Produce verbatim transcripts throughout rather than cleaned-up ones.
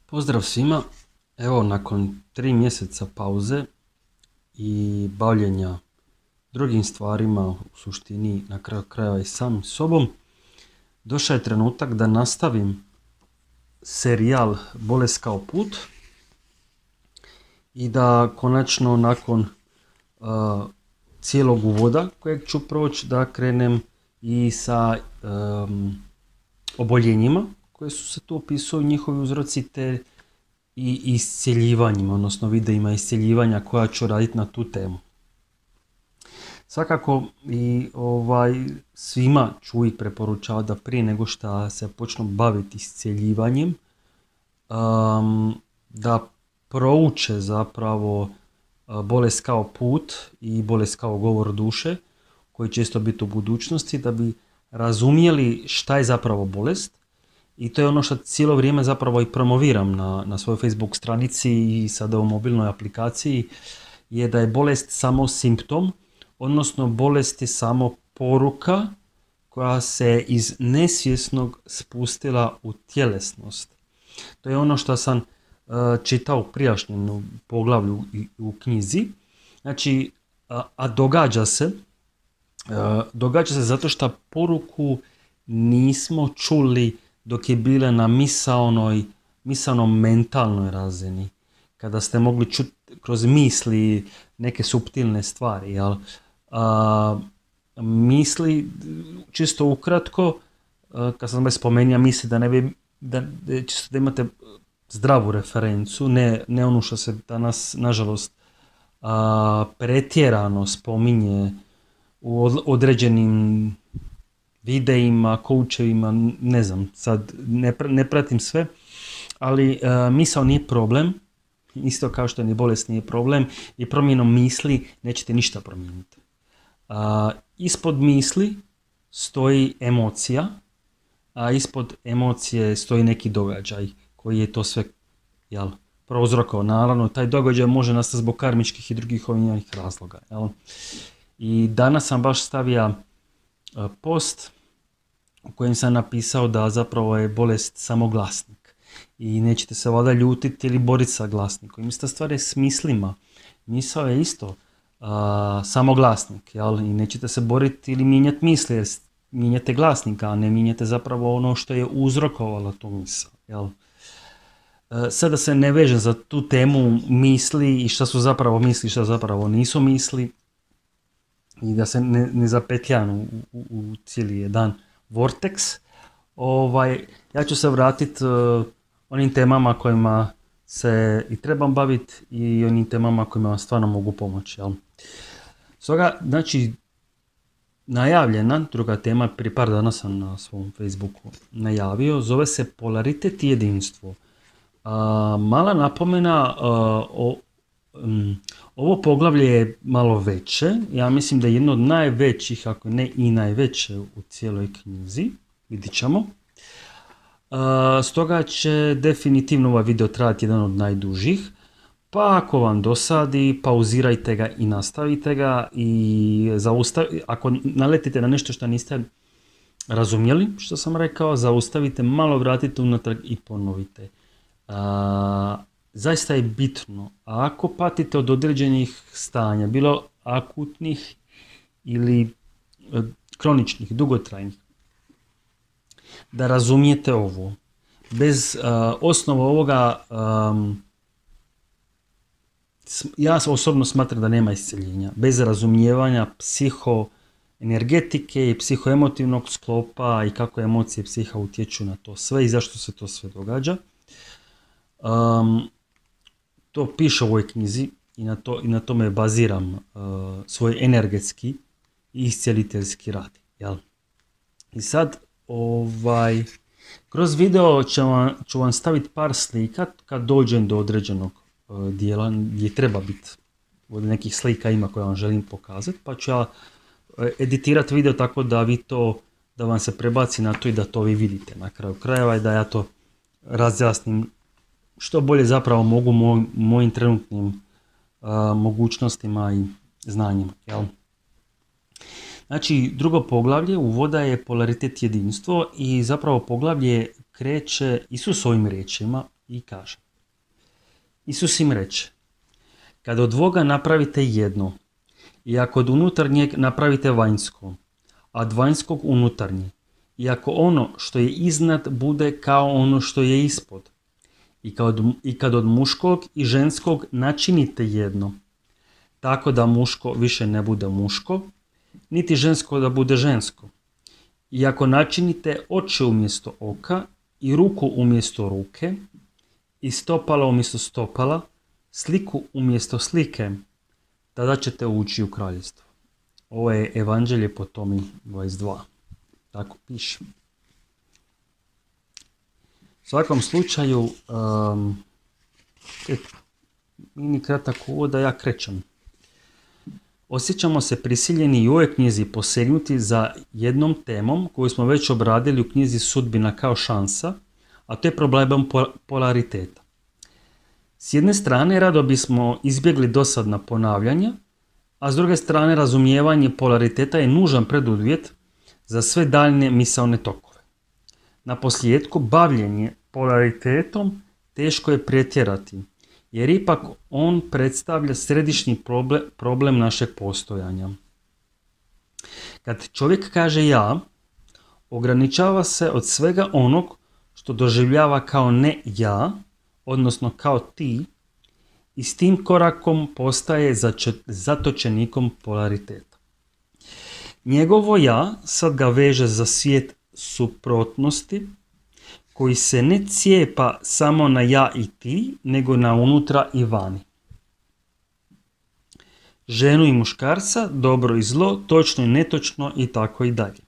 Pozdrav svima, evo nakon tri mjeseca pauze i bavljenja drugim stvarima, u suštini na kraju krajeva i sam sobom, došao je trenutak da nastavim serijal Bolest kao put i da konačno nakon uh, cijelog uvoda kojeg ću proći da krenem i sa um, oboljenjima koje su se tu opisuju, njihovi uzroci te i iscjeljivanjima, odnosno videima iscjeljivanja koja ću raditi na tu temu. Svakako i ovaj, svima ću uvijek preporučavati da prije nego što se počnu baviti iscjeljivanjem, um, da prouče zapravo uh, bolest kao put i bolest kao govor duše, koji će isto biti u budućnosti, da bi razumjeli šta je zapravo bolest. I to je ono što cijelo vrijeme zapravo i promoviram na, na svojoj Facebook stranici i sada u mobilnoj aplikaciji, je da je bolest samo simptom, odnosno bolest je samo poruka koja se iz nesvjesnog spustila u tjelesnost. To je ono što sam uh, čitao u prijašnjem poglavlju u, u knjizi. Znači, a, a događa se, uh, događa se zato što poruku nismo čuli dok je bila na misaonoj, misaonom mentalnoj razini, kada ste mogli čuti kroz misli neke suptilne stvari. Jel? A, misli, čisto ukratko, a, kad sam već spomenuo misli, da ne bi, da, čisto da imate zdravu referencu, ne, ne ono što se danas, nažalost, a, pretjerano spominje u određenim videima, koučevima, ne znam, sad ne, ne pratim sve, ali uh, misao nije problem, isto kao što ni bolest nije problem, i promjenom misli nećete ništa promijeniti. Uh, ispod misli stoji emocija, a ispod emocije stoji neki događaj koji je to sve, jel, prouzrokovao. Naravno, taj događaj može nastati zbog karmičkih i drugih ovih razloga. Jel? I danas sam baš stavio post u kojem sam napisao da zapravo je bolest samo glasnik i nećete se valjda ljutiti ili boriti sa glasnikom. Ista stvar je s mislima. Misao je isto uh, samo glasnik, jel? I nećete se boriti ili mijenjati misli, jer mijenjate glasnika, a ne mijenjate zapravo ono što je uzrokovalo tu misao. Jel? Uh, sada se ne vežem za tu temu misli i šta su zapravo misli i šta zapravo nisu misli, i da se ne, ne zapetljam u, u, u cijeli jedan vortex. Ovaj, ja ću se vratiti uh, onim temama kojima se i trebam baviti i onim temama kojima vam stvarno mogu pomoći. Jel? Stoga, znači, najavljena druga tema, prije par dana sam na svom Facebooku najavio, zove se polaritet i jedinstvo. Uh, mala napomena, uh, o um, ovo poglavlje je malo veće, ja mislim da je jedno od najvećih, ako ne i najveće u cijeloj knjizi, vidit ćemo. Uh, stoga će definitivno ovaj video trajati jedan od najdužih, pa ako vam dosadi, pauzirajte ga i nastavite ga, i zaustav... ako naletite na nešto što niste razumjeli, što sam rekao, zaustavite, malo vratite unatrag i ponovite. Uh, Zaista je bitno, a ako patite od određenih stanja, bilo akutnih ili e, kroničnih, dugotrajnih, da razumijete ovo. Bez uh, osnova ovoga, um, ja osobno smatram da nema iscjeljenja. Bez razumijevanja psihoenergetike i psihoemotivnog sklopa i kako emocije i psiha utječu na to sve i zašto se to sve događa. Um, To piše u ovoj knjizi i na, to, i na tome baziram uh, svoj energetski i iscjeliteljski rad. Jel? I sad, ovaj, kroz video ću vam, ću vam staviti par slika kad dođem do određenog uh, dijela gdje treba biti. Od nekih slika ima koje vam želim pokazati, pa ću ja uh, editirati video tako da vi to, da vam se prebaci na to i da to vi vidite na kraju krajeva i da ja to razjasnim što bolje zapravo mogu moj, mojim trenutnim uh, mogućnostima i znanjima. Jel? Znači, drugo poglavlje uvoda je polaritet jedinstvo i zapravo poglavlje kreće Isusovim riječima i kaže: Isus im reče: kad od dvoga napravite jedno, i ako od unutarnjeg napravite vanjsko, a od vanjskog unutarnje, i ako ono što je iznad bude kao ono što je ispod, i kad, i kad od muškog i ženskog načinite jedno, tako da muško više ne bude muško, niti žensko da bude žensko. I ako načinite oči umjesto oka, i ruku umjesto ruke, i stopala umjesto stopala, sliku umjesto slike, tada ćete ući u kraljevstvo. Ovo je Evanđelje po Tomi dvadeset dva. Tako piše. U svakom slučaju, um, mini kratak uvod da ja krećem. Osjećamo se prisiljeni i u ovoj knjizi posegnuti za jednom temom koju smo već obradili u knjizi Sudbina kao šansa, a to je problemom polariteta. S jedne strane rado bismo izbjegli dosadna ponavljanja, a s druge strane razumijevanje polariteta je nužan preduvjet za sve daljnje misaone tokove. Na posljedku, bavljenje polaritetom teško je pretjerati, jer ipak on predstavlja središnji problem, problem našeg postojanja. Kad čovjek kaže ja, ograničava se od svega onog što doživljava kao ne ja, odnosno kao ti, i s tim korakom postaje zatočenikom polariteta. Njegovo ja sad ga veže za svijet suprotnosti, koji se ne cijepa samo na ja i ti, nego na unutra i vani. Ženu i muškarca, dobro i zlo, točno i netočno i tako i dalje.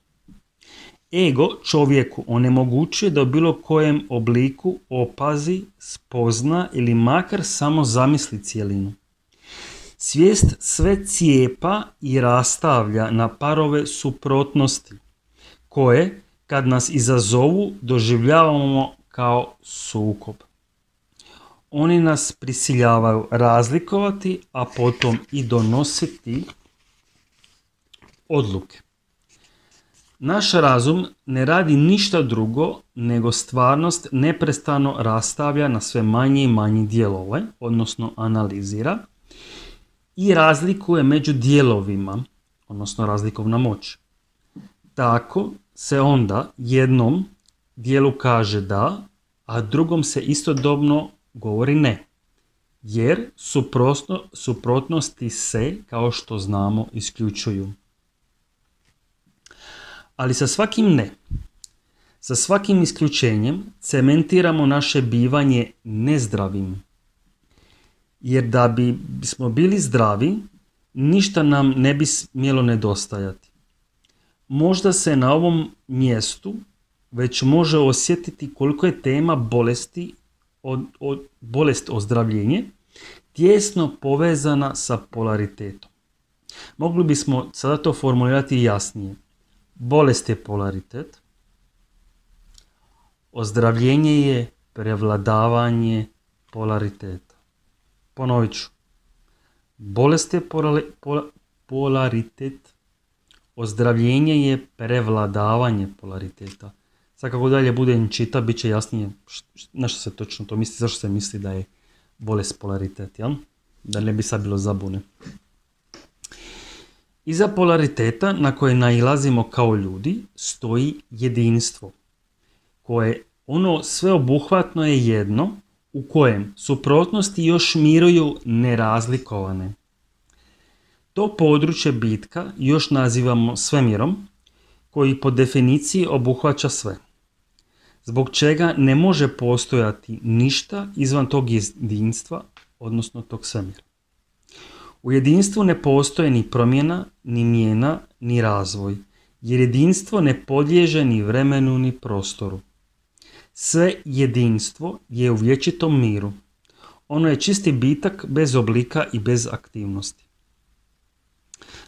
Ego čovjeku onemogućuje da u bilo kojem obliku opazi, spozna ili makar samo zamisli cjelinu. Svijest sve cijepa i rastavlja na parove suprotnosti, koje, kad nas izazovu, doživljavamo kao sukob. Oni nas prisiljavaju razlikovati, a potom i donositi odluke. Naš razum ne radi ništa drugo nego stvarnost neprestano rastavlja na sve manje i manje dijelove, odnosno analizira, i razlikuje među dijelovima, odnosno razlikovna moć. Tako se onda jednom dijelu kaže da, a drugom se istodobno govori ne, jer suprotno, suprotnosti se, kao što znamo, isključuju. Ali sa svakim ne, sa svakim isključenjem cementiramo naše bivanje nezdravim. Jer da bi smo bili zdravi, ništa nam ne bi smjelo nedostajati. Možda se na ovom mjestu već može osjetiti koliko je tema bolesti, od, od, bolest ozdravljenje, tijesno povezana sa polaritetom. Mogli bismo sada to formulirati jasnije. Bolest je polaritet, ozdravljenje je prevladavanje polariteta. Ponovit ću. Bolest je polari, pola, polaritet, ozdravljenje je prevladavanje polariteta. Sad kako dalje budem čita, bit će jasnije na što se točno to misli, zašto se misli da je bolest polaritet, jel? Da ne bi sad bilo zabune. Iza polariteta na koje nailazimo kao ljudi stoji jedinstvo, koje ono sveobuhvatno je jedno u kojem suprotnosti još miruju nerazlikovane. To područje bitka još nazivamo svemirom, koji po definiciji obuhvaća sve, zbog čega ne može postojati ništa izvan tog jedinstva, odnosno tog svemira. U jedinstvu ne postoje ni promjena, ni mijena, ni razvoj, jer jedinstvo ne podliježe ni vremenu, ni prostoru. Sve jedinstvo je u vječitom miru. Ono je čisti bitak bez oblika i bez aktivnosti.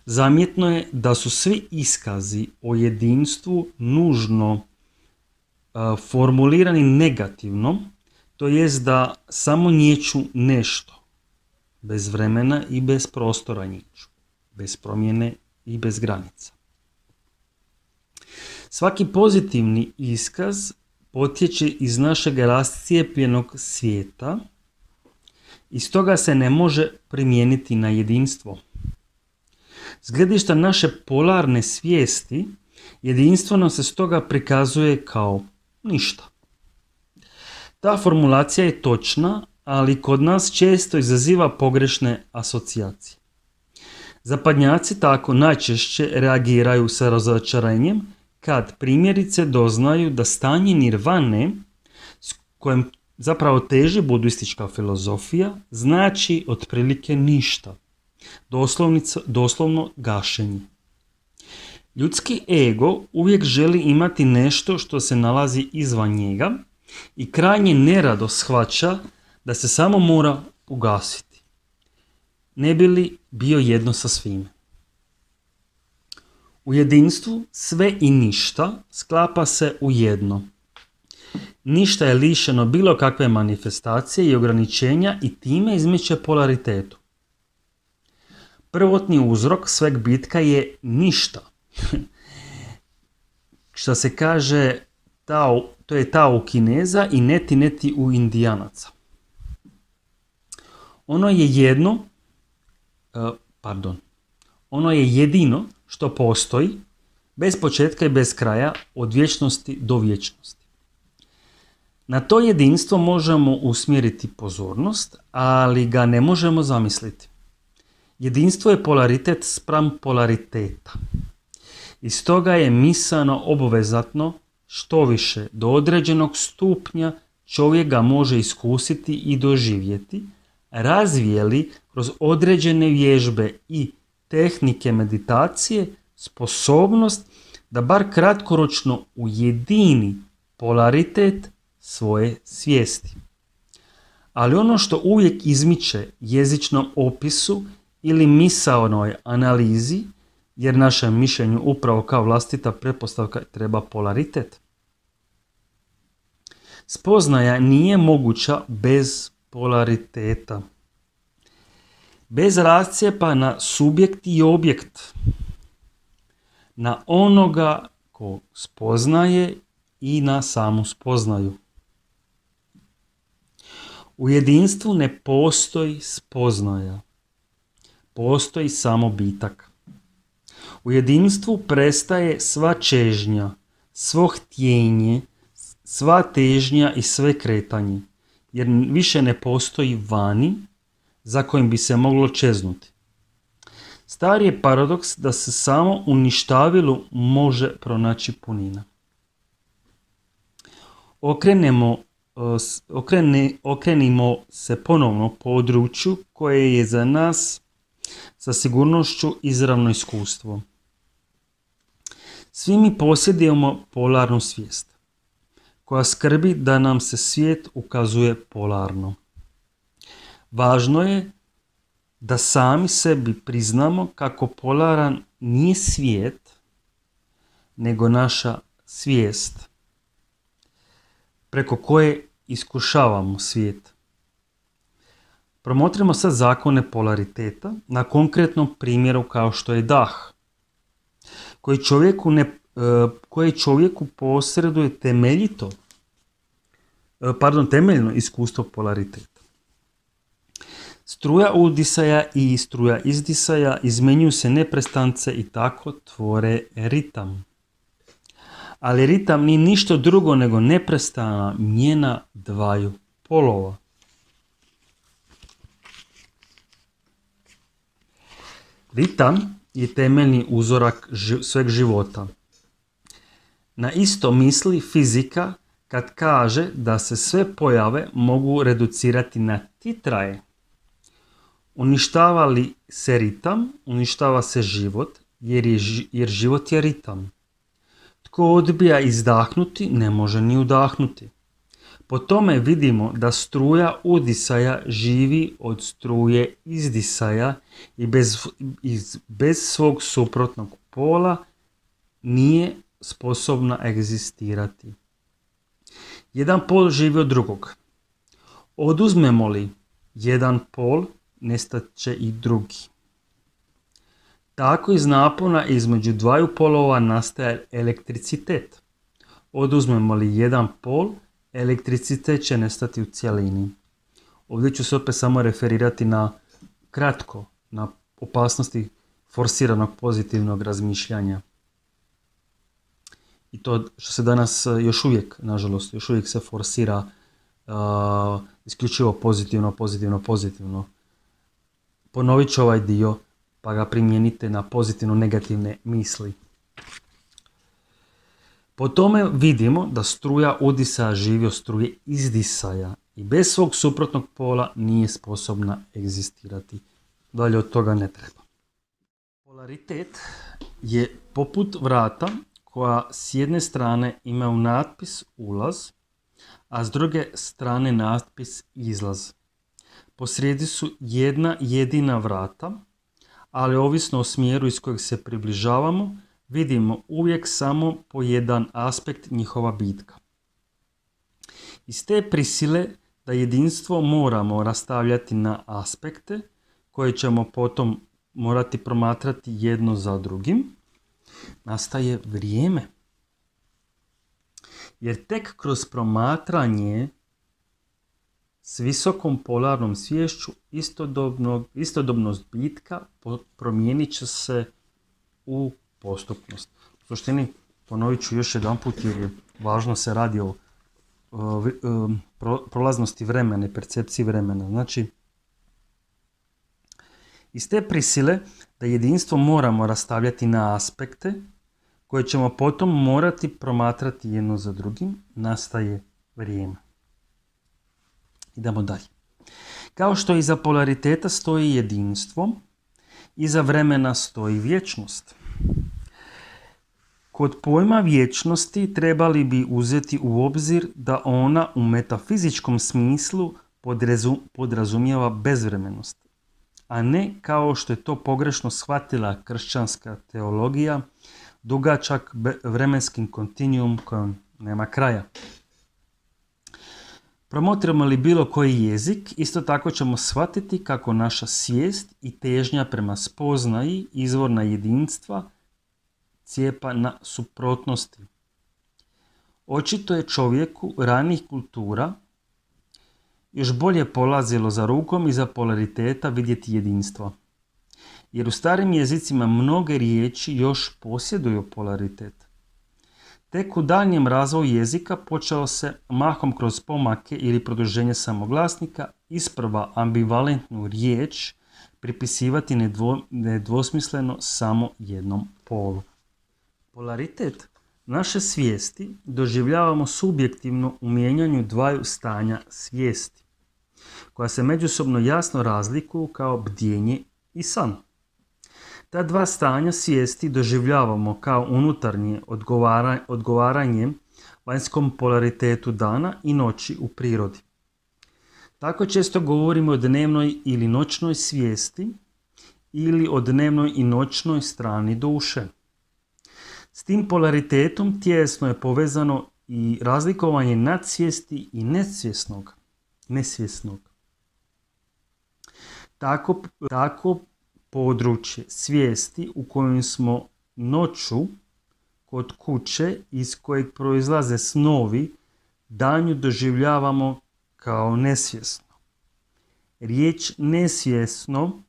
Zamjetno je da su svi iskazi o jedinstvu nužno uh, formulirani negativno, to jest da samo nječu nešto, bez vremena i bez prostora nječu, bez promjene i bez granica. Svaki pozitivni iskaz potječe iz našeg rascijepljenog svijeta i stoga se ne može primijeniti na jedinstvo. S gledišta naše polarne svijesti, jedinstvo nam se stoga prikazuje kao ništa. Ta formulacija je točna, ali kod nas često izaziva pogrešne asocijacije. Zapadnjaci tako najčešće reagiraju sa razočarenjem kad primjerice doznaju da stanje nirvane, s kojem zapravo teži budistička filozofija, znači otprilike ništa, doslovno gašenje. Ljudski ego uvijek želi imati nešto što se nalazi izvan njega i krajnje nerado shvaća da se samo mora ugasiti, ne bi li bio jedno sa svime. U jedinstvu sve i ništa sklapa se u jedno. Ništa je lišeno bilo kakve manifestacije i ograničenja i time izmiče polaritetu. Prvotni uzrok sveg bitka je ništa. Što se kaže, tao, to je tao u Kineza i neti neti u Indijanaca. Ono je jedno, uh, pardon, ono je jedino što postoji, bez početka i bez kraja, od vječnosti do vječnosti. Na to jedinstvo možemo usmjeriti pozornost, ali ga ne možemo zamisliti. Jedinstvo je polaritet spram polariteta. I stoga je misaano obvezatno, što više, do određenog stupnja čovjek ga može iskusiti i doživjeti, razvijeli kroz određene vježbe i tehnike meditacije sposobnost da bar kratkoročno ujedini polaritet svoje svijesti. Ali ono što uvijek izmiče jezičnom opisu ili misaonoj analizi, jer našem mišljenju upravo kao vlastita pretpostavka treba polaritet. Spoznaja nije moguća bez polariteta. Bez rascijepa na subjekt i objekt, na onoga ko spoznaje i na samu spoznaju. U jedinstvu ne postoji spoznaja, postoji samo bitak. U jedinstvu prestaje sva čežnja, svo htjenje, sva težnja i sve kretanje, jer više ne postoji vani za kojim bi se moglo čeznuti. Stari je paradoks da se samo u ništavilu može pronaći punina. Okrenemo, okrene, okrenimo se ponovno području koje je za nas sa sigurnošću izravno iskustvo. Svi mi posjedujemo polarnu svijest, koja skrbi da nam se svijet ukazuje polarno. Važno je da sami sebi priznamo kako polaran nije svijet, nego naša svijest, preko koje iskušavamo svijet. Promotrimo sad zakone polariteta na konkretnom primjeru kao što je dah, koji čovjeku, ne, koji čovjeku posreduje temeljito, pardon, temeljno iskustvo polariteta. Struja udisaja i struja izdisaja izmenjuju se neprestance i tako tvore ritam. Ali ritam nije ništa drugo nego neprestana mijena dvaju polova. Ritam je temeljni uzorak sveg života. Na isto misli fizika kad kaže da se sve pojave mogu reducirati na titraje. Uništava li se ritam, uništava se život, jer, je, jer život je ritam. Tko odbija izdahnuti, ne može ni udahnuti. Po tome vidimo da struja udisaja živi od struje izdisaja i bez, iz, bez svog suprotnog pola nije sposobna egzistirati. Jedan pol živi od drugog. Oduzmemo li jedan pol, nestat će i drugi. Tako iz napona između dvaju polova nastaje elektricitet. oduzmemo li jedan pol, elektricitet će nestati u cjelini. Ovdje ću se opet samo referirati na kratko, na opasnosti forsiranog pozitivnog razmišljanja. I to što se danas još uvijek, nažalost, još uvijek se forsira uh, isključivo pozitivno, pozitivno, pozitivno. Ponovit ću ovaj dio pa ga primijenite na pozitivno negativne misli. Po tome vidimo da struja udisanja živi od struje izdisaja i bez svog suprotnog pola nije sposobna egzistirati. Dalje od toga ne treba. Polaritet je poput vrata koja s jedne strane ima u natpis ulaz, a s druge strane natpis izlaz. Posrijedi su jedna jedina vrata, ali ovisno o smjeru iz kojeg se približavamo, vidimo uvijek samo po jedan aspekt njihova bitka. Iz te prisile da jedinstvo moramo rastavljati na aspekte koje ćemo potom morati promatrati jedno za drugim, nastaje vrijeme. Jer tek kroz promatranje s visokom polarnom sviješću istodobnost bitka promijenit će se u postupnost. U suštini, ponovit ću još jedan put jer je važno, se radi o uh, pro, prolaznosti vremena i percepciji vremena. Znači, iz te prisile da jedinstvo moramo rastavljati na aspekte koje ćemo potom morati promatrati jedno za drugim, nastaje vrijeme. Idemo dalje. Kao što iza polariteta stoji jedinstvo, iza vremena stoji vječnost. Kod pojma vječnosti trebali bi uzeti u obzir da ona u metafizičkom smislu podrazumijeva bezvremenost, a ne kao što je to pogrešno shvatila kršćanska teologija, dugačak vremenskim kontinuum kojem nema kraja. Promotrimo li bilo koji jezik, isto tako ćemo shvatiti kako naša svijest i težnja prema spoznaji izvorna jedinstva cijepa na suprotnosti. Očito je čovjeku ranijih kultura još bolje polazilo za rukom iza polariteta vidjeti jedinstvo. Jer u starim jezicima mnoge riječi još posjeduju polaritet. Tek u daljnjem razvoju jezika počelo se mahom kroz pomake ili produženje samoglasnika isprva ambivalentnu riječ pripisivati nedvo, nedvosmisleno samo jednom polu. Polaritet naše svijesti doživljavamo subjektivno u mijenjanju dvaju stanja svijesti, koja se međusobno jasno razlikuju kao bdjenje i san. Ta dva stanja svijesti doživljavamo kao unutarnje odgovara, odgovaranje vanjskom polaritetu dana i noći u prirodi. Tako često govorimo o dnevnoj ili noćnoj svijesti ili o dnevnoj i noćnoj strani duše. S tim polaritetom tijesno je povezano i razlikovanje nadsvijesti i nesvjesnog. nesvjesnog. Tako, tako područje svijesti u kojem smo noću kod kuće iz kojeg proizlaze snovi danju doživljavamo kao nesvjesno. Riječ nesvjesno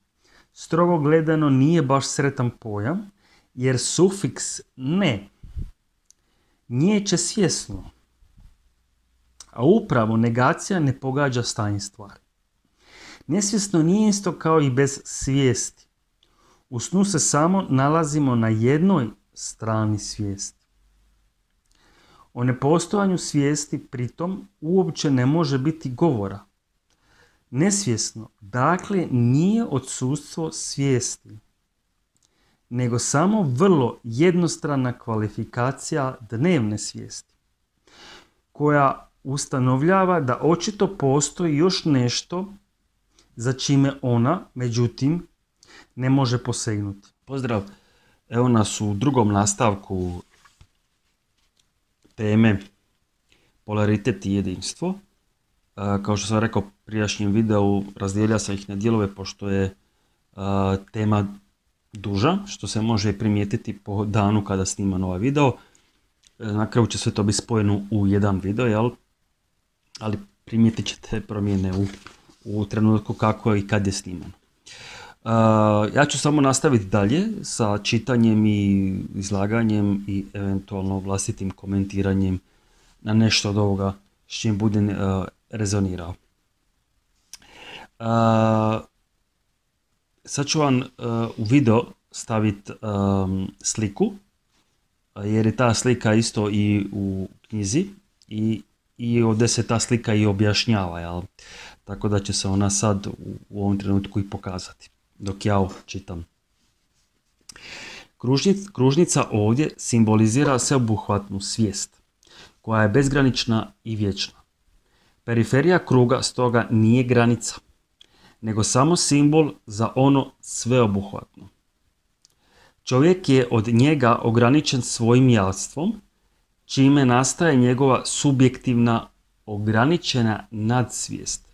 strogo gledano nije baš sretan pojam, jer sufiks ne niječe svjesno, a upravo negacija ne pogađa stanje stvari. Nesvjesno nije isto kao i bez svijesti. U snu se samo nalazimo na jednoj strani svijesti. O nepostojanju svijesti pritom uopće ne može biti govora. Nesvjesno, dakle, nije odsustvo svijesti, nego samo vrlo jednostrana kvalifikacija dnevne svijesti, koja ustanovljava da očito postoji još nešto za čime ona, međutim, ne može posegnuti. Pozdrav, evo nas u drugom nastavku teme polaritet i jedinstvo. Kao što sam rekao u prijašnjem videu, razdijelio sam ih na dijelove pošto je tema duža, što se može primijetiti po danu kada snimam ovaj video. na kraju će sve to biti spojeno u jedan video, jel? Ali primijetit ćete promjene u, u trenutku kako i kad je snimano. Uh, ja ću samo nastaviti dalje sa čitanjem i izlaganjem i eventualno vlastitim komentiranjem na nešto od ovoga s čim budem uh, rezonirao. Uh, sad ću vam uh, u video staviti um, sliku, jer je ta slika isto i u knjizi i, i ovdje se ta slika i objašnjava, jel? Tako da će se ona sad u, u ovom trenutku i pokazati dok ja ovo čitam. Kružnica, kružnica ovdje simbolizira sveobuhvatnu svijest koja je bezgranična i vječna. Periferija kruga stoga nije granica, nego samo simbol za ono sveobuhvatno. Čovjek je od njega ograničen svojim jastvom, čime nastaje njegova subjektivna, ograničena nadsvijest.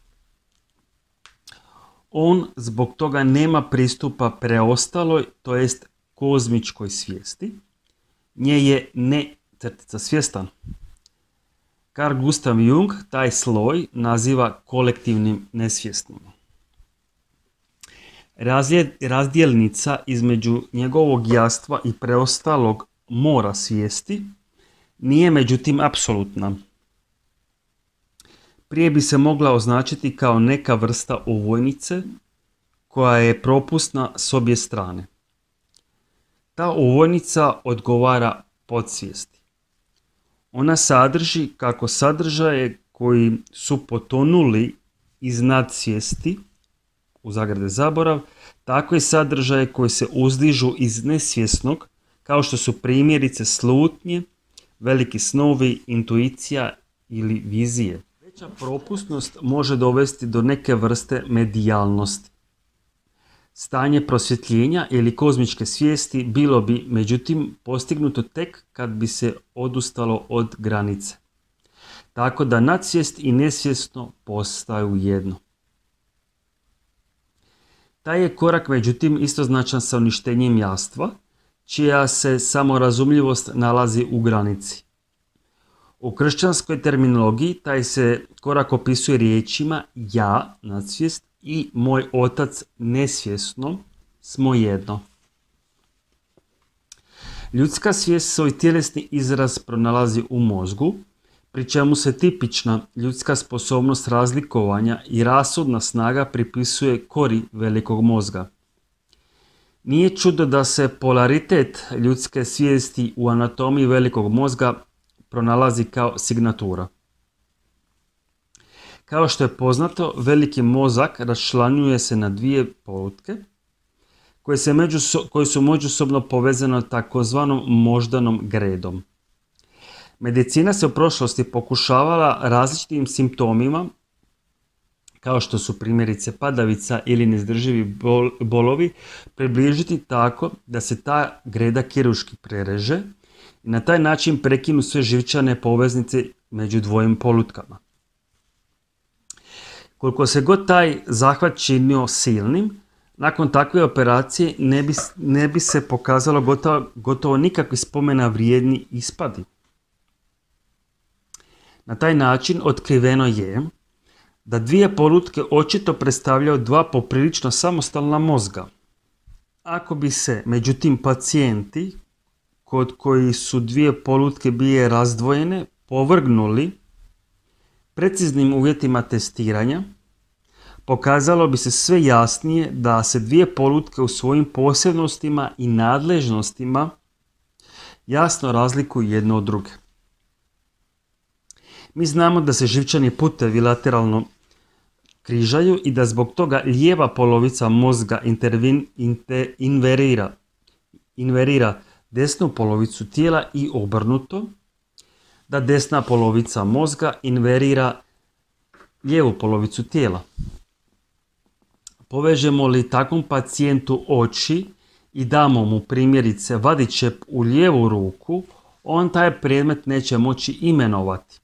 On zbog toga nema pristupa preostaloj, to jest kozmičkoj svijesti. Nje je ne crtica svjestan. Carl Gustav Jung taj sloj naziva kolektivnim nesvjesnim. Razdjelnica između njegovog jastva i preostalog mora svijesti nije međutim apsolutna. Prije bi se mogla označiti kao neka vrsta ovojnice koja je propusna s obje strane. Ta ovojnica odgovara podsvijesti. Ona sadrži kako sadržaje koji su potonuli iz nadsvijesti, u zagrade zaborav, tako i sadržaje koji se uzdižu iz nesvjesnog, kao što su primjerice slutnje, veliki snovi, intuicija ili vizije. Veća propusnost može dovesti do neke vrste medijalnosti. Stanje prosvjetljenja ili kozmičke svijesti bilo bi, međutim, postignuto tek kad bi se odustalo od granice. Tako da nadsvijest i nesvjesno postaju jedno. Taj je korak, međutim, istoznačan sa uništenjem jastva, čija se samorazumljivost nalazi u granici. U kršćanskoj terminologiji taj se korak opisuje riječima ja, nadsvijest, i moj otac nesvjesno smo jedno. Ljudska svijest svoj tjelesni izraz pronalazi u mozgu, pri čemu se tipična ljudska sposobnost razlikovanja i rasudna snaga pripisuje kori velikog mozga. Nije čudo da se polaritet ljudske svijesti u anatomiji velikog mozga pronalazi kao signatura. Kao što je poznato, veliki mozak raščlanjuje se na dvije polutke koje, se međuso, koje su međusobno povezane takozvanom moždanom gredom. Medicina se u prošlosti pokušavala različitim simptomima, kao što su primjerice padavica ili neizdrživi bol, bolovi, približiti tako da se ta greda kirurški prereže i na taj način prekinu sve živčane poveznice među dvojim polutkama. Koliko se god taj zahvat činio silnim, nakon takve operacije ne bi, ne bi se pokazalo gotovo, gotovo nikakvi spomena vrijedni ispadi. Na taj način otkriveno je da dvije polutke očito predstavljaju dva poprilično samostalna mozga. Ako bi se, međutim, pacijenti kod koji su dvije polutke bile razdvojene povrgnuli preciznim uvjetima testiranja, pokazalo bi se sve jasnije da se dvije polutke u svojim posebnostima i nadležnostima jasno razlikuju jedno od druge. Mi znamo da se živčani putevi lateralno križaju i da zbog toga lijeva polovica mozga intervin, inter, inverira, inverira desnu polovicu tijela i obrnuto, da desna polovica mozga inverira lijevu polovicu tijela. Povežemo li takvom pacijentu oči i damo mu primjerice vadičep u lijevu ruku, on taj predmet neće moći imenovati.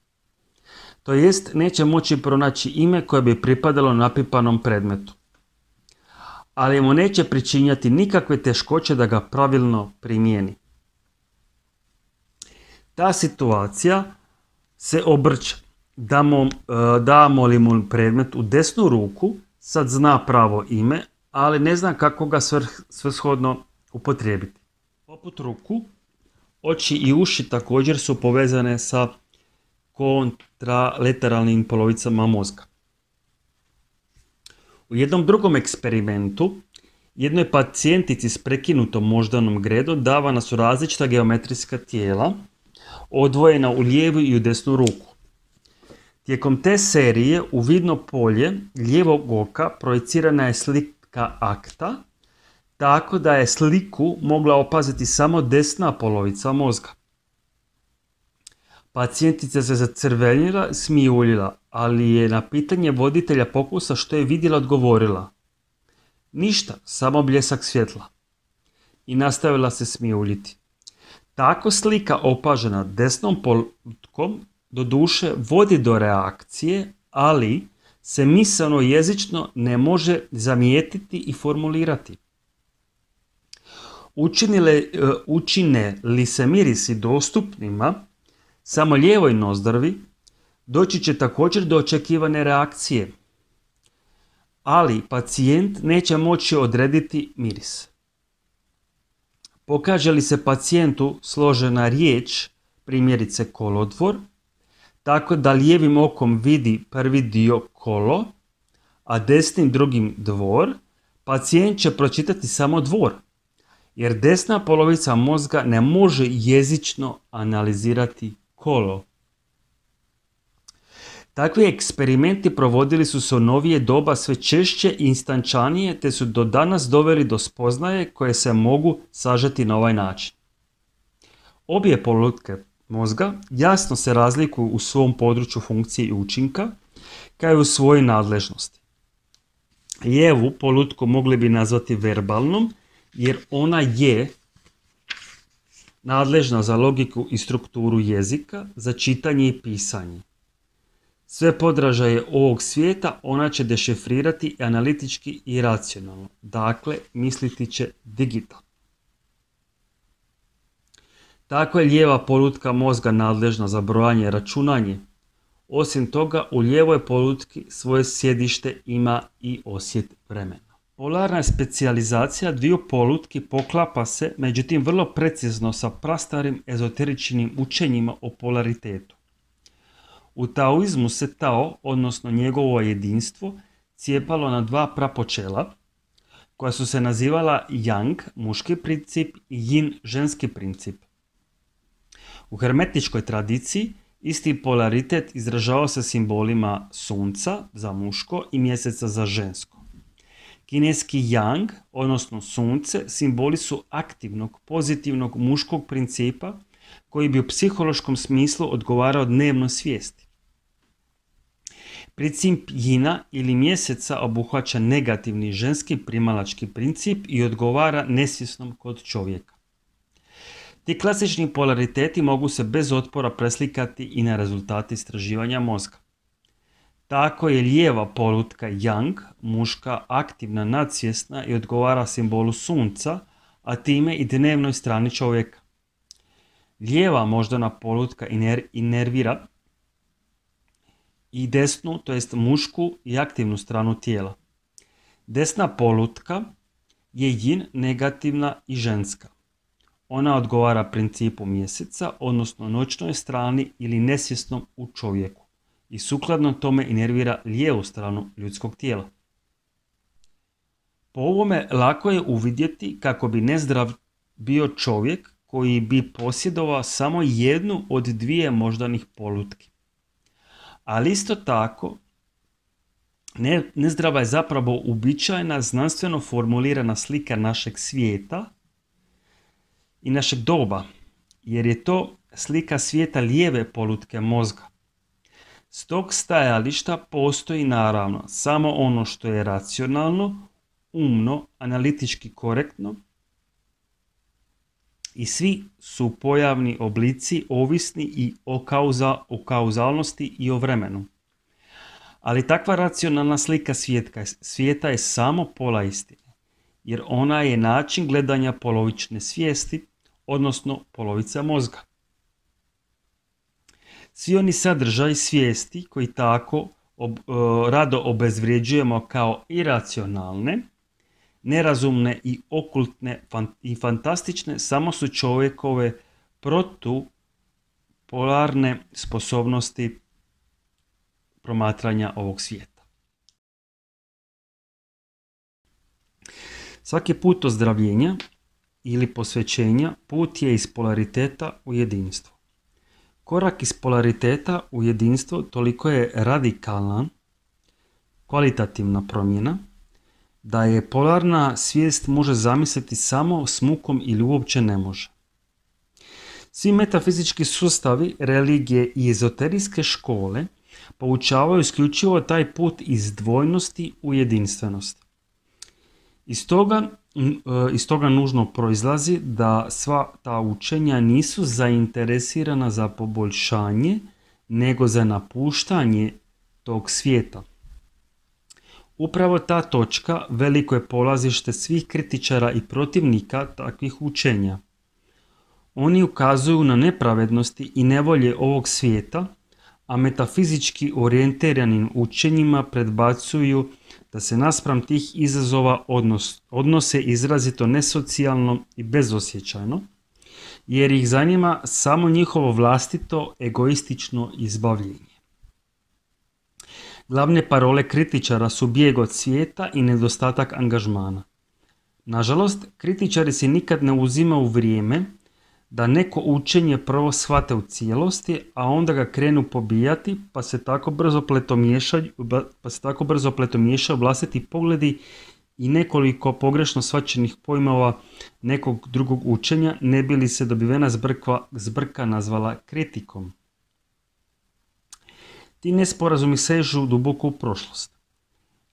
To jest, neće moći pronaći ime koje bi pripadalo napipanom predmetu. Ali mu neće pričinjati nikakve teškoće da ga pravilno primijeni. Ta situacija se obrće. Damo, damo li mu predmet u desnu ruku, sad zna pravo ime, ali ne zna kako ga svrshodno upotrijebiti. Poput ruku, oči i uši također su povezane sa kontralateralnim polovicama mozga. U jednom drugom eksperimentu, jednoj pacijentici s prekinutom moždanom gredom davana su različita geometrijska tijela, odvojena u lijevu i u desnu ruku. Tijekom te serije u vidno polje lijevog oka projicirana je slika akta, tako da je sliku mogla opaziti samo desna polovica mozga. Pacijentica se zacrvenila, smijuljila, ali je na pitanje voditelja pokusa što je vidjela odgovorila: ništa, samo bljesak svjetla. I nastavila se smijuljiti. Tako slika opažena desnom polutkom doduše vodi do reakcije, ali se misaono jezično ne može zamijetiti i formulirati. Učinile, učine li se mirisi dostupnima samo lijevoj nozdrvi, doći će također do očekivane reakcije, ali pacijent neće moći odrediti miris. Pokaže li se pacijentu složena riječ, primjerice kolodvor, tako da lijevim okom vidi prvi dio kolo, a desnim drugim dvor, pacijent će pročitati samo dvor, jer desna polovica mozga ne može jezično analizirati kolo. Takvi eksperimenti provodili su se u novije doba sve češće i instančanije, te su do danas doveli do spoznaje koje se mogu sažeti na ovaj način. Obje polutke mozga jasno se razlikuju u svom području funkcije i učinka, kao i u svojoj nadležnosti. Lijevu polutku mogli bi nazvati verbalnom, jer ona je nadležna za logiku i strukturu jezika, za čitanje i pisanje. Sve podražaje ovog svijeta ona će dešifrirati analitički i racionalno, dakle misliti će digitalno. Tako je lijeva polutka mozga nadležna za brojanje i računanje. Osim toga, u lijevoj polutki svoje sjedište ima i osjet vremena. Polarna specijalizacija dviju polutki poklapa se, međutim vrlo precizno sa prastarim ezoteričnim učenjima o polaritetu. U taoizmu se Tao, odnosno njegovo jedinstvo, cijepalo na dva prapočela, koja su se nazivala Yang, muški princip, i Yin, ženski princip. U hermetičkoj tradiciji isti polaritet izražavao se simbolima sunca za muško i mjeseca za žensko. Kineski Yang, odnosno sunce, simboli su aktivnog, pozitivnog muškog principa koji bi u psihološkom smislu odgovarao dnevnoj svijesti. Princip Yina ili mjeseca obuhvaća negativni ženski primalački princip i odgovara nesvjesnom kod čovjeka. Ti klasični polariteti mogu se bez otpora preslikati i na rezultate istraživanja mozga. Tako je lijeva polutka Yang, muška, aktivna, nadsvjesna i odgovara simbolu sunca, a time i dnevnoj strani čovjeka. Lijeva moždana polutka iner- inervira i desnu, to jest mušku i aktivnu stranu tijela. Desna polutka je Yin, negativna i ženska. Ona odgovara principu mjeseca, odnosno noćnoj strani ili nesvjesnom u čovjeku i sukladno tome inervira lijevu stranu ljudskog tijela. Po ovome lako je uvidjeti kako bi nezdrav bio čovjek koji bi posjedovao samo jednu od dvije moždanih polutki. Ali isto tako, ne, nezdrava je zapravo uobičajena, znanstveno formulirana slika našeg svijeta i našeg doba, jer je to slika svijeta lijeve polutke mozga. S tog stajališta postoji naravno samo ono što je racionalno, umno, analitički korektno i svi su pojavni oblici ovisni i o, kauza, o kauzalnosti i o vremenu. Ali takva racionalna slika svijetka, svijeta je samo pola istine, jer ona je način gledanja polovične svijesti, odnosno polovica mozga. Svi oni sadržaj svijesti koji tako ob, rado obezvrjeđujemo kao iracionalne, nerazumne i okultne i fantastične samo su čovjekove protupolarne sposobnosti promatranja ovog svijeta. Svaki put ozdravljenja ili posvećenja put je iz polariteta u jedinstvo. Korak iz polariteta u jedinstvo toliko je radikalan, kvalitativna promjena, da je polarna svijest može zamisliti samo s mukom ili uopće ne može. Svi metafizički sustavi, religije i ezoterijske škole poučavaju isključivo taj put iz dvojnosti u jedinstvenost. Iz toga, iz toga nužno proizlazi da sva ta učenja nisu zainteresirana za poboljšanje, nego za napuštanje tog svijeta. Upravo ta točka veliko je polazište svih kritičara i protivnika takvih učenja. Oni ukazuju na nepravednosti i nevolje ovog svijeta, a metafizički orijentiranim učenjima predbacuju da se naspram tih izazova odnos, odnose izrazito nesocijalno i bezosjećajno, jer ih zanima samo njihovo vlastito egoistično izbavljenje. Glavne parole kritičara su bijeg od svijeta i nedostatak angažmana. Nažalost, kritičari si nikad ne uzimaju vrijeme da neko učenje prvo shvate u cijelosti, a onda ga krenu pobijati, pa se tako brzo pletomiješaju, pa se tako brzo pletomiješaju vlastiti pogledi i nekoliko pogrešno shvaćenih pojmova nekog drugog učenja, ne bi li se dobivena zbrka, zbrka nazvala kritikom. Ti nesporazumi sežu duboko u prošlost.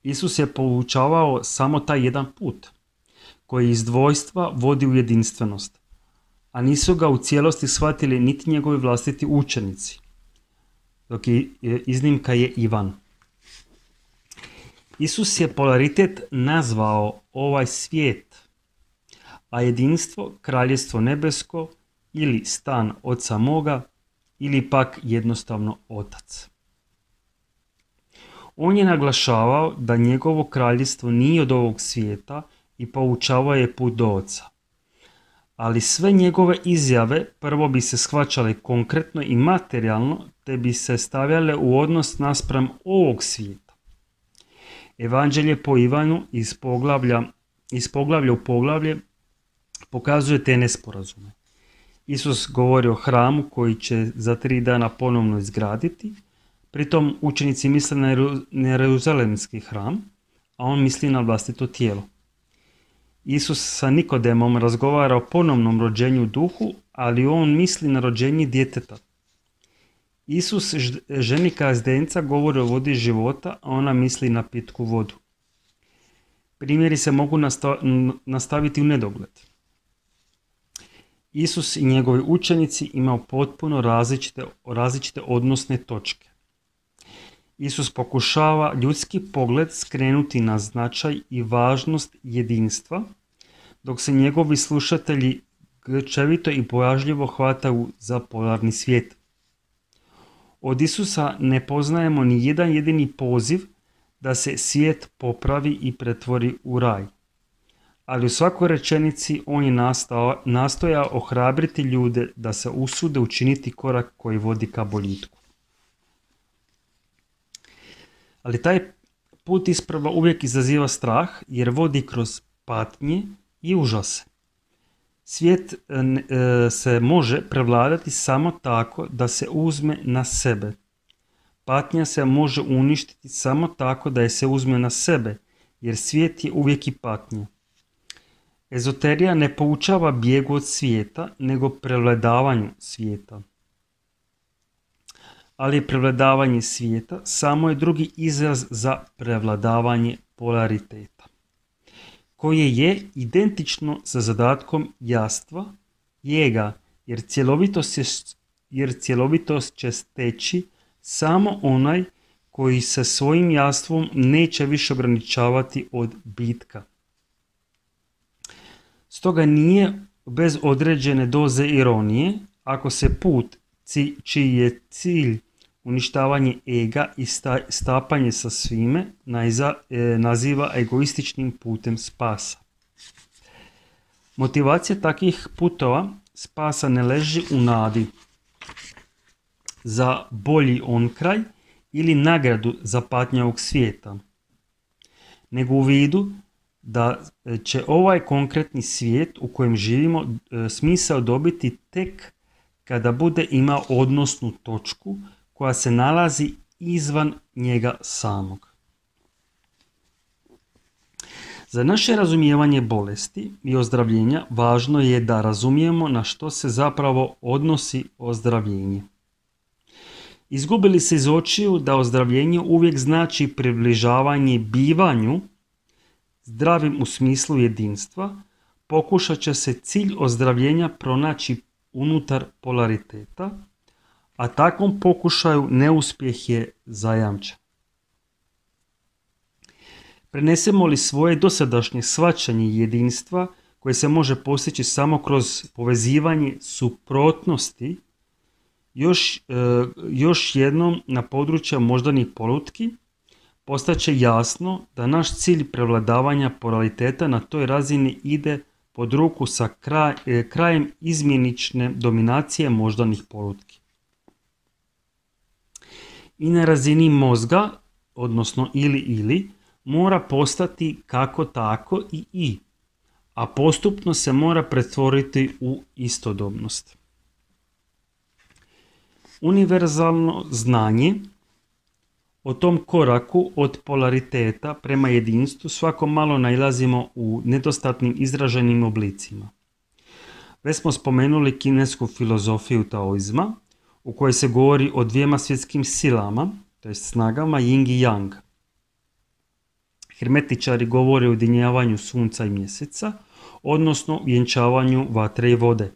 Isus je poučavao samo taj jedan put, koji iz dvojstva vodi u jedinstvenost, a nisu ga u cijelosti shvatili niti njegovi vlastiti učenici, dok je iznimka je Ivan. Isus je polaritet nazvao ovaj svijet, a jedinstvo kraljestvo nebesko ili stan Oca moga ili pak jednostavno Otac. On je naglašavao da njegovo kraljevstvo nije od ovog svijeta i poučavao je put do Oca. Ali sve njegove izjave prvo bi se shvaćale konkretno i materijalno, te bi se stavljale u odnos naspram ovog svijeta. Evanđelje po Ivanu iz poglavlja, iz poglavlja u poglavlje pokazuje te nesporazume. Isus govori o hramu koji će za tri dana ponovno izgraditi, pritom učenici misle na Jeruzalemski hram, a on misli na vlastito tijelo. Isus sa Nikodemom razgovara o ponovnom rođenju u duhu, ali on misli na rođenje djeteta. Isus ženi kazdenca govori o vodi života, a ona misli na pitku vodu. Primjeri se mogu nastaviti u nedogled. Isus i njegovi učenici imaju potpuno različite, različite odnosne točke. Isus pokušava ljudski pogled skrenuti na značaj i važnost jedinstva, dok se njegovi slušatelji grčevito i bojažljivo hvataju za polarni svijet. Od Isusa ne poznajemo ni jedan jedini poziv da se svijet popravi i pretvori u raj. Ali u svakoj rečenici on je nastao, nastoja ohrabriti ljude da se usude učiniti korak koji vodi ka boljitku. Ali taj put isprava uvijek izaziva strah jer vodi kroz patnje i užase. Svijet e, se može prevladati samo tako da se uzme na sebe. Patnja se može uništiti samo tako da je se uzme na sebe, jer svijet je uvijek i patnja. Ezoterija ne poučava bijegu od svijeta, nego prevladavanju svijeta. Ali prevladavanje svijeta samo je drugi izraz za prevladavanje polariteta, koje je identično sa zadatkom jastva, jega, jer cjelovitost, je, jer cjelovitost će steći samo onaj koji se svojim jastvom neće više ograničavati od bitka. Stoga nije bez određene doze ironije ako se put čiji je cilj uništavanje ega i stapanje sa svime, naziva egoističnim putem spasa. Motivacija takvih putova spasa ne leži u nadi za bolji onkraj ili nagradu za patnje ovog svijeta, nego u vidu da će ovaj konkretni svijet u kojem živimo smisao dobiti tek kada bude imao odnosnu točku koja se nalazi izvan njega samog. Za naše razumijevanje bolesti i ozdravljenja važno je da razumijemo na što se zapravo odnosi ozdravljenje. Izgubili se iz očiju da ozdravljenje uvijek znači približavanje bivanju zdravim u smislu jedinstva, pokušat će se cilj ozdravljenja pronaći unutar polariteta, a takvom pokušaju neuspjeh je zajamčen. Prenesemo li svoje dosadašnje shvaćanje jedinstva koje se može postići samo kroz povezivanje suprotnosti još, e, još jednom na području moždanih polutki, postaće jasno da naš cilj prevladavanja polariteta na toj razini ide pod ruku sa kraj, e, krajem izmjenične dominacije moždanih polutki. I na razini mozga, odnosno ili ili, mora postati kako tako i i, a postupno se mora pretvoriti u istodobnost. Univerzalno znanje o tom koraku od polariteta prema jedinstvu svako malo nailazimo u nedostatnim izraženim oblicima. Već smo spomenuli kinesku filozofiju taoizma, u kojoj se govori o dvijema svjetskim silama, to jest snagama Yin i Yang. Hermetičari govore o ujedinjavanju sunca i mjeseca, odnosno vjenčavanju vatre i vode.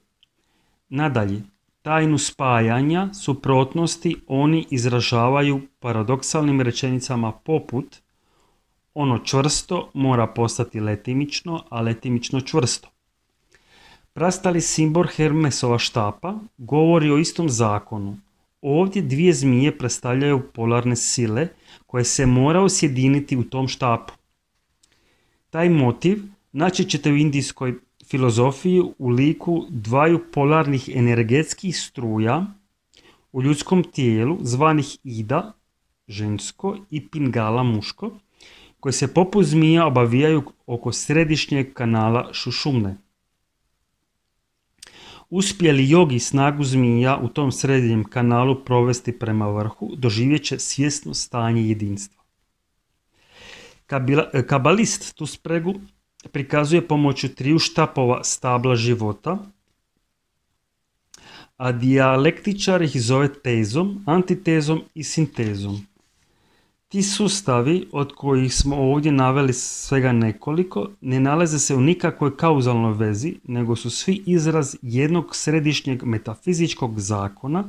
Nadalje, tajnu spajanja, suprotnosti oni izražavaju paradoksalnim rečenicama poput ono čvrsto mora postati letimično, a letimično čvrsto. Prastali simbol Hermesova štapa govori o istom zakonu. Ovdje dvije zmije predstavljaju polarne sile koje se moraju sjediniti u tom štapu. Taj motiv naći ćete u indijskoj filozofiji u liku dvaju polarnih energetskih struja u ljudskom tijelu zvanih Ida, žensko, i Pingala, muško, koje se poput zmija obavijaju oko središnjeg kanala Šušumne. Uspije li jogi snagu zmija u tom srednjem kanalu provesti prema vrhu, doživjet će svjesno stanje jedinstva. Kabalist tu spregu prikazuje pomoću triju štapova stabla života, a dijalektičar ih zove tezom, antitezom i sintezom. Ti sustavi, od kojih smo ovdje naveli svega nekoliko, ne nalaze se u nikakvoj kauzalnoj vezi, nego su svi izraz jednog središnjeg metafizičkog zakona,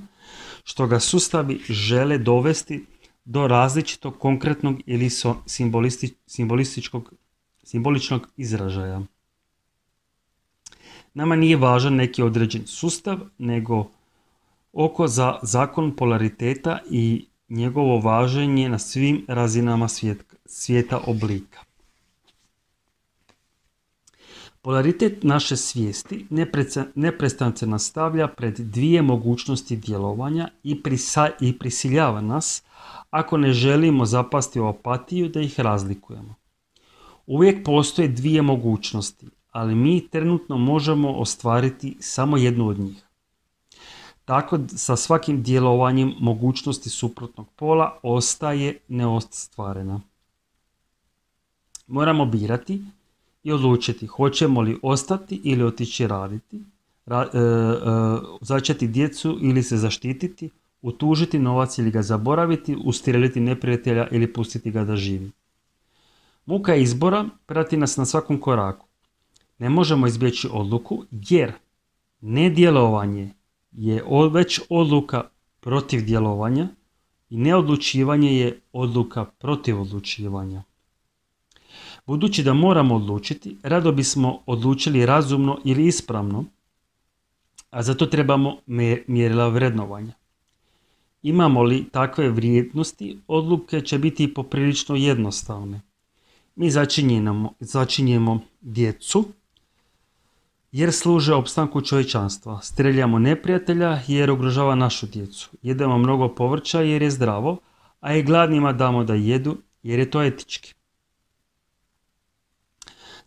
što ga sustavi žele dovesti do različitog konkretnog ili simbolisti, simbolističkog, simboličnog izražaja. Nama nije važan neki određen sustav, nego oko za zakon polariteta i njegovo važenje na svim razinama svijeta, svijeta oblika. Polaritet naše svijesti neprestano se nastavlja pred dvije mogućnosti djelovanja i, prisa, i prisiljava nas, ako ne želimo zapasti u apatiju, da ih razlikujemo. Uvijek postoje dvije mogućnosti, ali mi trenutno možemo ostvariti samo jednu od njih. Tako sa svakim djelovanjem mogućnosti suprotnog pola ostaje neostvarena. Moramo birati i odlučiti hoćemo li ostati ili otići raditi, ra, e, e, začeti djecu ili se zaštititi, utužiti novac ili ga zaboraviti, ustrijeliti neprijatelja ili pustiti ga da živi. Muka izbora prati nas na svakom koraku. Ne možemo izbjeći odluku jer nedjelovanje je već odluka protiv djelovanja i neodlučivanje je odluka protiv odlučivanja. Budući da moramo odlučiti, rado bismo odlučili razumno ili ispravno, a zato trebamo mjerila vrednovanja. Imamo li takve vrijednosti, odluke će biti poprilično jednostavne. Mi začinjemo, začinjemo djecu jer služe opstanku čovječanstva. Streljamo neprijatelja jer ugrožava našu djecu. Jedemo mnogo povrća jer je zdravo, a i gladnima damo da jedu jer je to etički.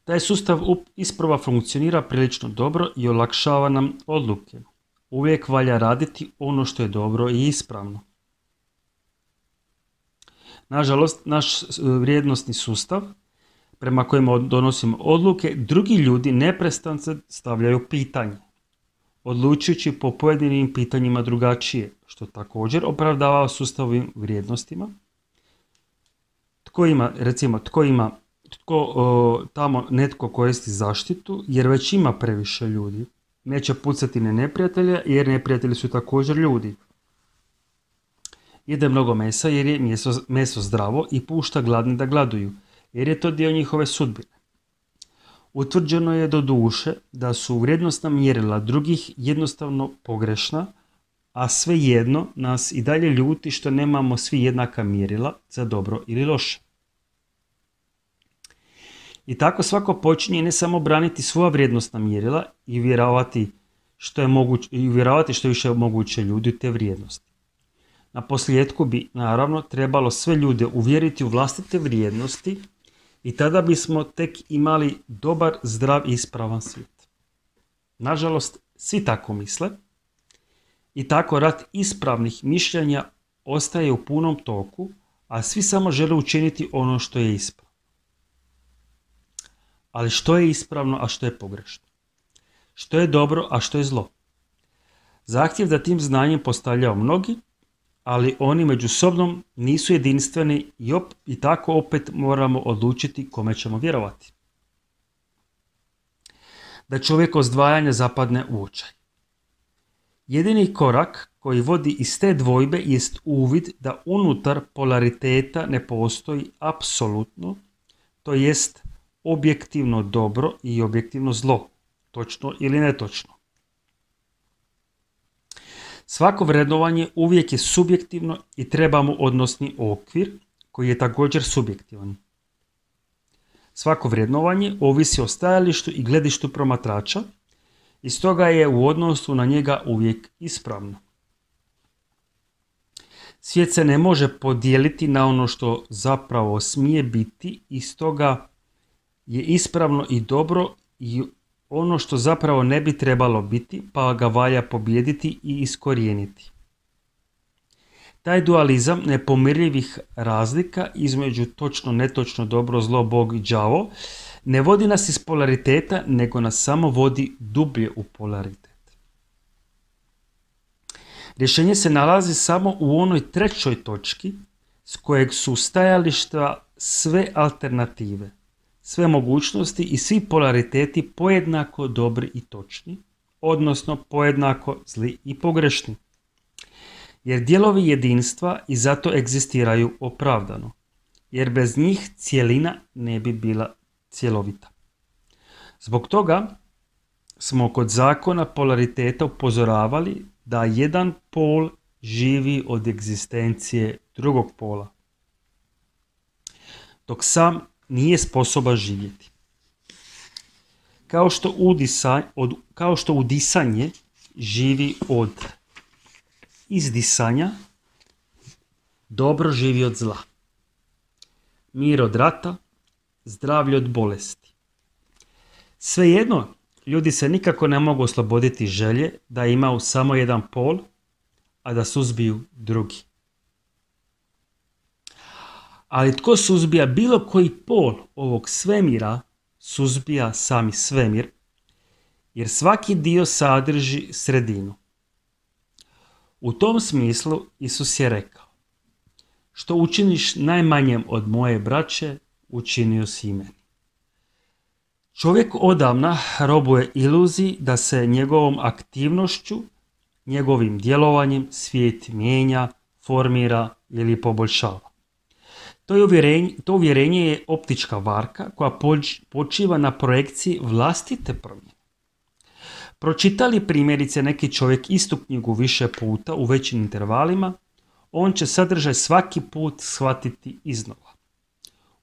Taj sustav isprava funkcionira prilično dobro i olakšava nam odluke. Uvijek valja raditi ono što je dobro i ispravno. Nažalost, naš vrijednosni sustav prema kojima donosimo odluke, drugi ljudi neprestano stavljaju pitanje, odlučujući po pojedinim pitanjima drugačije, što također opravdava sustavovim vrijednostima. Tko ima, recimo, tko ima, tko o, tamo netko koristi zaštitu, jer već ima previše ljudi. Neće pucati na neprijatelja, jer neprijatelji su također ljudi. Jede mnogo mesa jer je meso, meso zdravo i pušta gladni da gladuju, jer je to dio njihove sudbine. Utvrđeno je do duše da su vrijednosna mjerila drugih jednostavno pogrešna, a svejedno nas i dalje ljuti što nemamo svi jednaka mjerila za dobro ili loše. I tako svako počinje ne samo braniti svoja vrijednosna mjerila i vjerovati što je moguće, i vjerovati što je više moguće ljudi u te vrijednosti. Na posljedku bi naravno trebalo sve ljude uvjeriti u vlastite vrijednosti i tada bismo tek imali dobar, zdrav i ispravan svijet. Nažalost, svi tako misle i tako rat ispravnih mišljenja ostaje u punom toku, a svi samo žele učiniti ono što je ispravno. Ali što je ispravno, a što je pogrešno? Što je dobro, a što je zlo? Zahtjev da tim znanjem postavljaju mnogi, ali oni međusobno nisu jedinstveni i, op- i tako opet moramo odlučiti kome ćemo vjerovati. Da čovjek ozdvajanja zapadne u očaj. Jedini korak koji vodi iz te dvojbe jest uvid da unutar polariteta ne postoji apsolutno, to jest objektivno dobro i objektivno zlo, točno ili netočno. Svako vrednovanje uvijek je subjektivno i treba mu odnosni okvir koji je također subjektivan. Svako vrednovanje ovisi o stajalištu i gledištu promatrača i stoga je u odnosu na njega uvijek ispravno. Svijet se ne može podijeliti na ono što zapravo smije biti i stoga je ispravno i dobro i ono što zapravo ne bi trebalo biti, pa ga valja pobijediti i iskorijeniti. Taj dualizam nepomirljivih razlika između točno, netočno, dobro, zlo, Bog i đavo ne vodi nas iz polariteta, nego nas samo vodi dublje u polaritet. Rješenje se nalazi samo u onoj trećoj točki s kojeg su stajališta sve alternative, sve mogućnosti i svi polariteti pojednako dobri i točni, odnosno pojednako zli i pogrešni. Jer dijelovi jedinstva i zato egzistiraju opravdano, jer bez njih cjelina ne bi bila cjelovita. Zbog toga smo kod zakona polariteta upozoravali da jedan pol živi od egzistencije drugog pola, dok sam nije sposoban živjeti. Kao što, udisa, od, kao što udisanje živi od izdisanja, dobro živi od zla. Mir od rata, zdravlje od bolesti. Svejedno, ljudi se nikako ne mogu osloboditi želje da imaju samo jedan pol, a da suzbiju drugi. Ali tko suzbija bilo koji pol ovog svemira, suzbija sami svemir, jer svaki dio sadrži sredinu. U tom smislu Isus je rekao: što učiniš najmanjem od moje braće, učinio si i meni. Čovjek odavna robuje iluziji da se njegovom aktivnošću, njegovim djelovanjem svijet mijenja, formira ili poboljšava. To, je uvjerenje, to uvjerenje je optička varka koja počiva na projekciji vlastite promjene. Pročitali primjerice neki čovjek istu knjigu više puta u većim intervalima, on će sadržaj svaki put shvatiti iznova,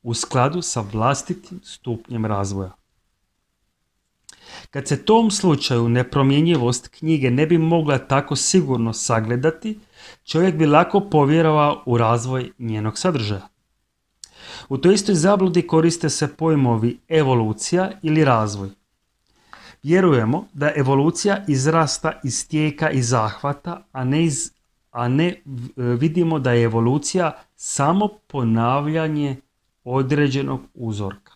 u skladu sa vlastitim stupnjem razvoja. Kad se tom slučaju nepromjenjivost knjige ne bi mogla tako sigurno sagledati, čovjek bi lako povjerovao u razvoj njenog sadržaja. U toj istoj zabludi koriste se pojmovi evolucija ili razvoj. Vjerujemo da evolucija izrasta iz tijeka i zahvata, a ne, iz, a ne vidimo da je evolucija samo ponavljanje određenog uzorka.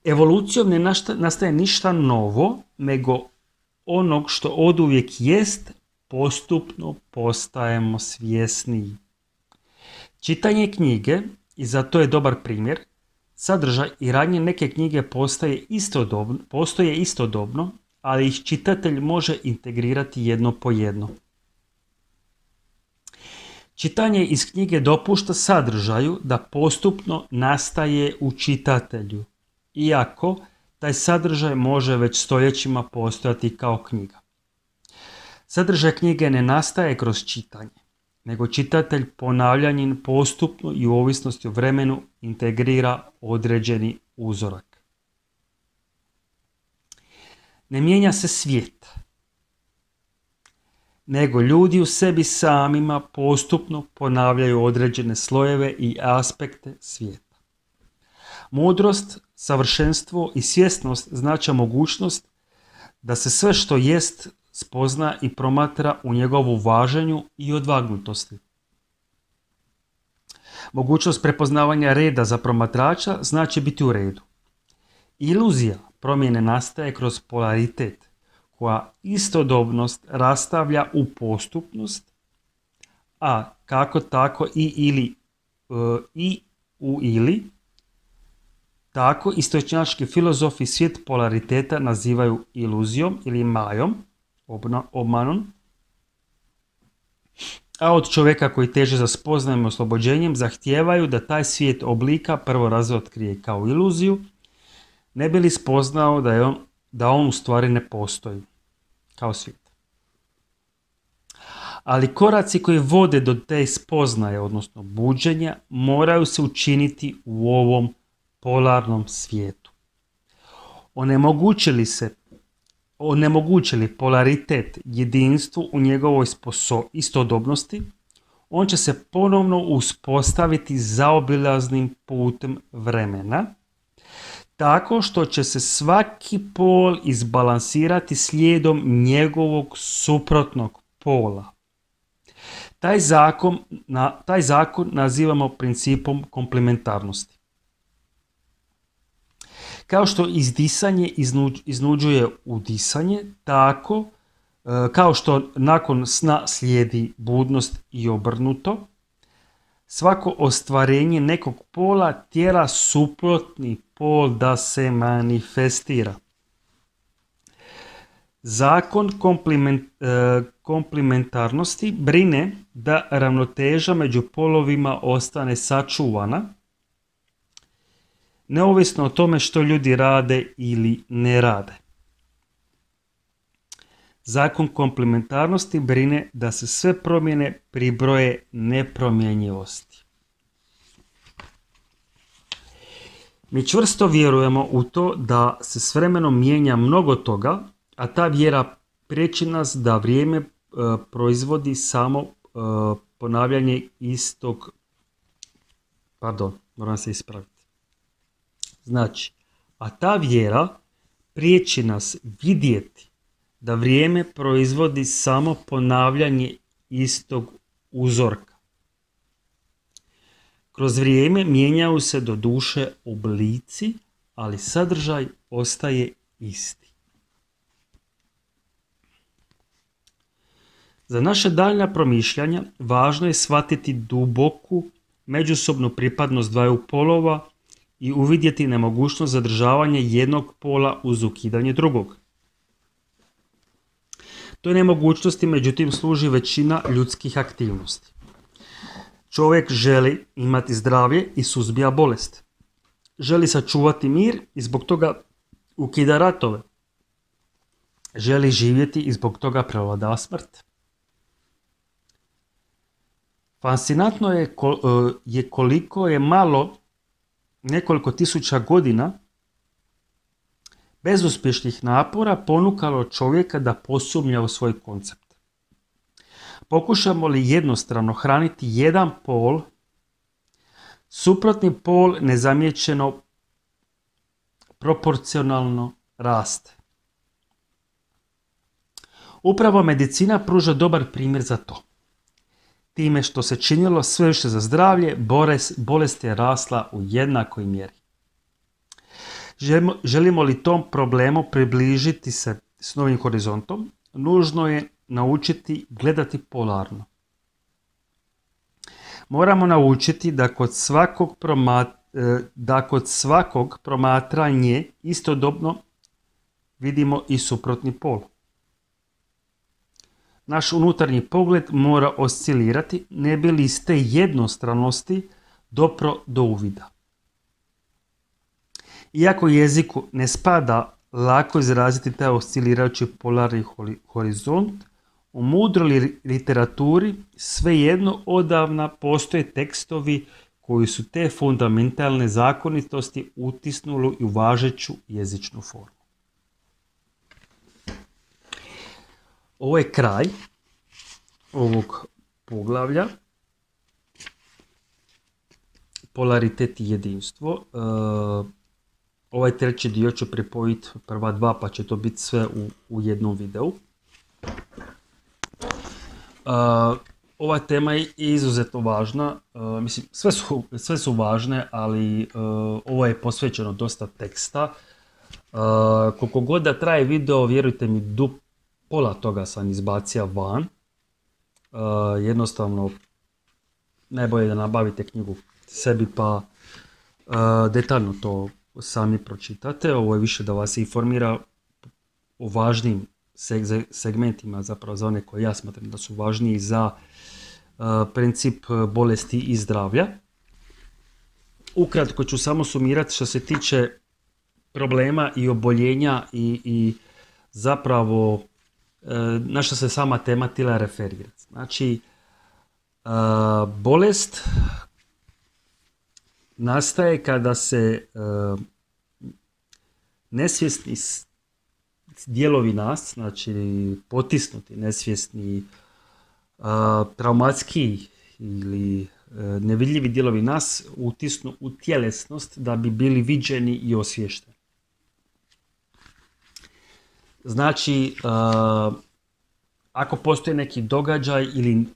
Evolucijom ne nastaje ništa novo, nego onog što oduvijek jest, postupno postajemo svjesniji. Čitanje knjige, i za to je dobar primjer, sadržaj i radnje neke knjige postaje istodobno, postoje istodobno, ali ih čitatelj može integrirati jedno po jedno. Čitanje iz knjige dopušta sadržaju da postupno nastaje u čitatelju, iako taj sadržaj može već stoljećima postojati kao knjiga. Sadržaj knjige ne nastaje kroz čitanje, nego čitatelj ponavljanjem postupno i u ovisnosti o vremenu integrira određeni uzorak. Ne mijenja se svijet, nego ljudi u sebi samima postupno ponavljaju određene slojeve i aspekte svijeta. Mudrost, savršenstvo i svjesnost znače mogućnost da se sve što jest spozna i promatra u njegovu važenju i odvagnutosti. Mogućnost prepoznavanja reda za promatrača znači biti u redu. Iluzija promjene nastaje kroz polaritet, koja istodobnost rastavlja u postupnost, a kako tako i ili e, i u ili, tako istočnjački filozofi svijet polariteta nazivaju iluzijom ili majom, obmanom, a od čovjeka koji teže za spoznajem i oslobođenjem zahtijevaju da taj svijet oblika prvo razotkrije kao iluziju, ne bi li spoznao da, je on, da on u stvari ne postoji kao svijet. Ali koraci koji vode do te spoznaje, odnosno buđenja, moraju se učiniti u ovom polarnom svijetu. Onemogućili se onemogućili polaritet jedinstvu u njegovoj sposo- istodobnosti, on će se ponovno uspostaviti zaobilaznim putem vremena, tako što će se svaki pol izbalansirati slijedom njegovog suprotnog pola. Taj zakon, na, taj zakon nazivamo principom komplementarnosti. Kao što izdisanje iznuđ, iznuđuje udisanje, tako e, kao što nakon sna slijedi budnost i obrnuto, svako ostvarenje nekog pola tjera suprotni pol da se manifestira. Zakon komplement, e, komplementarnosti brine da ravnoteža među polovima ostane sačuvana, neovisno o tome što ljudi rade ili ne rade. Zakon komplementarnosti brine da se sve promjene pribroje nepromjenjivosti. Mi čvrsto vjerujemo u to da se s vremenom mijenja mnogo toga, a ta vjera priječi nas da vrijeme e, proizvodi samo e, ponavljanje istog, pardon, moram se ispraviti. Znači, a ta vjera priječi nas vidjeti da vrijeme proizvodi samo ponavljanje istog uzorka. Kroz vrijeme mijenjaju se do duše oblici, ali sadržaj ostaje isti. Za naše daljnja promišljanja važno je shvatiti duboku međusobnu pripadnost dvaju polova i uvidjeti nemogućnost zadržavanja jednog pola uz ukidanje drugog. Toj nemogućnosti međutim služi većina ljudskih aktivnosti. Čovjek želi imati zdravlje i suzbija bolest. Želi sačuvati mir i zbog toga ukida ratove, želi živjeti i zbog toga prevladava smrt. Fascinantno je, je koliko je malo nekoliko tisuća godina bezuspješnih napora ponukalo čovjeka da posumnja u svoj koncept. Pokušamo li jednostrano hraniti jedan pol, suprotni pol nezamijećeno proporcionalno raste. Upravo medicina pruža dobar primjer za to. Time što se činilo sve više za zdravlje, bolest je rasla u jednakoj mjeri. Želimo, želimo li tom problemu približiti se s novim horizontom, nužno je naučiti gledati polarno. Moramo naučiti da kod svakog, promat, da kod svakog promatranje istodobno vidimo i suprotni pol. Naš unutarnji pogled mora oscilirati, ne bi li iz te jednostranosti dopro do uvida. Iako jeziku ne spada lako izraziti taj oscilirajući polarni horizont, u mudroj literaturi svejedno odavna postoje tekstovi koji su te fundamentalne zakonitosti utisnuli u važeću jezičnu formu. Ovo je kraj ovog poglavlja. Polaritet i jedinstvo. E, ovaj treći dio ću pripojiti prva dva, pa će to biti sve u, u jednom videu. E, ova tema je izuzetno važna. E, mislim, sve su, sve su važne, ali e, ovo je posvećeno dosta teksta. E, koliko god da traje video, vjerujte mi, dup pola toga sam izbacio van. Uh, jednostavno, najbolje da nabavite knjigu sebi pa uh, detaljno to sami pročitate. Ovo je više da vas informira o važnim seg- segmentima, zapravo za one koje ja smatram da su važniji za uh, princip bolesti i zdravlja. Ukratko ću samo sumirati što se tiče problema i oboljenja i, i zapravo na što se sama tema tila referira. Znači, bolest nastaje kada se nesvjesni dijelovi nas, znači potisnuti, nesvjesni, traumatski ili nevidljivi dijelovi nas utisnu u tjelesnost da bi bili viđeni i osvješteni. Znači, uh, ako postoji neki događaj ili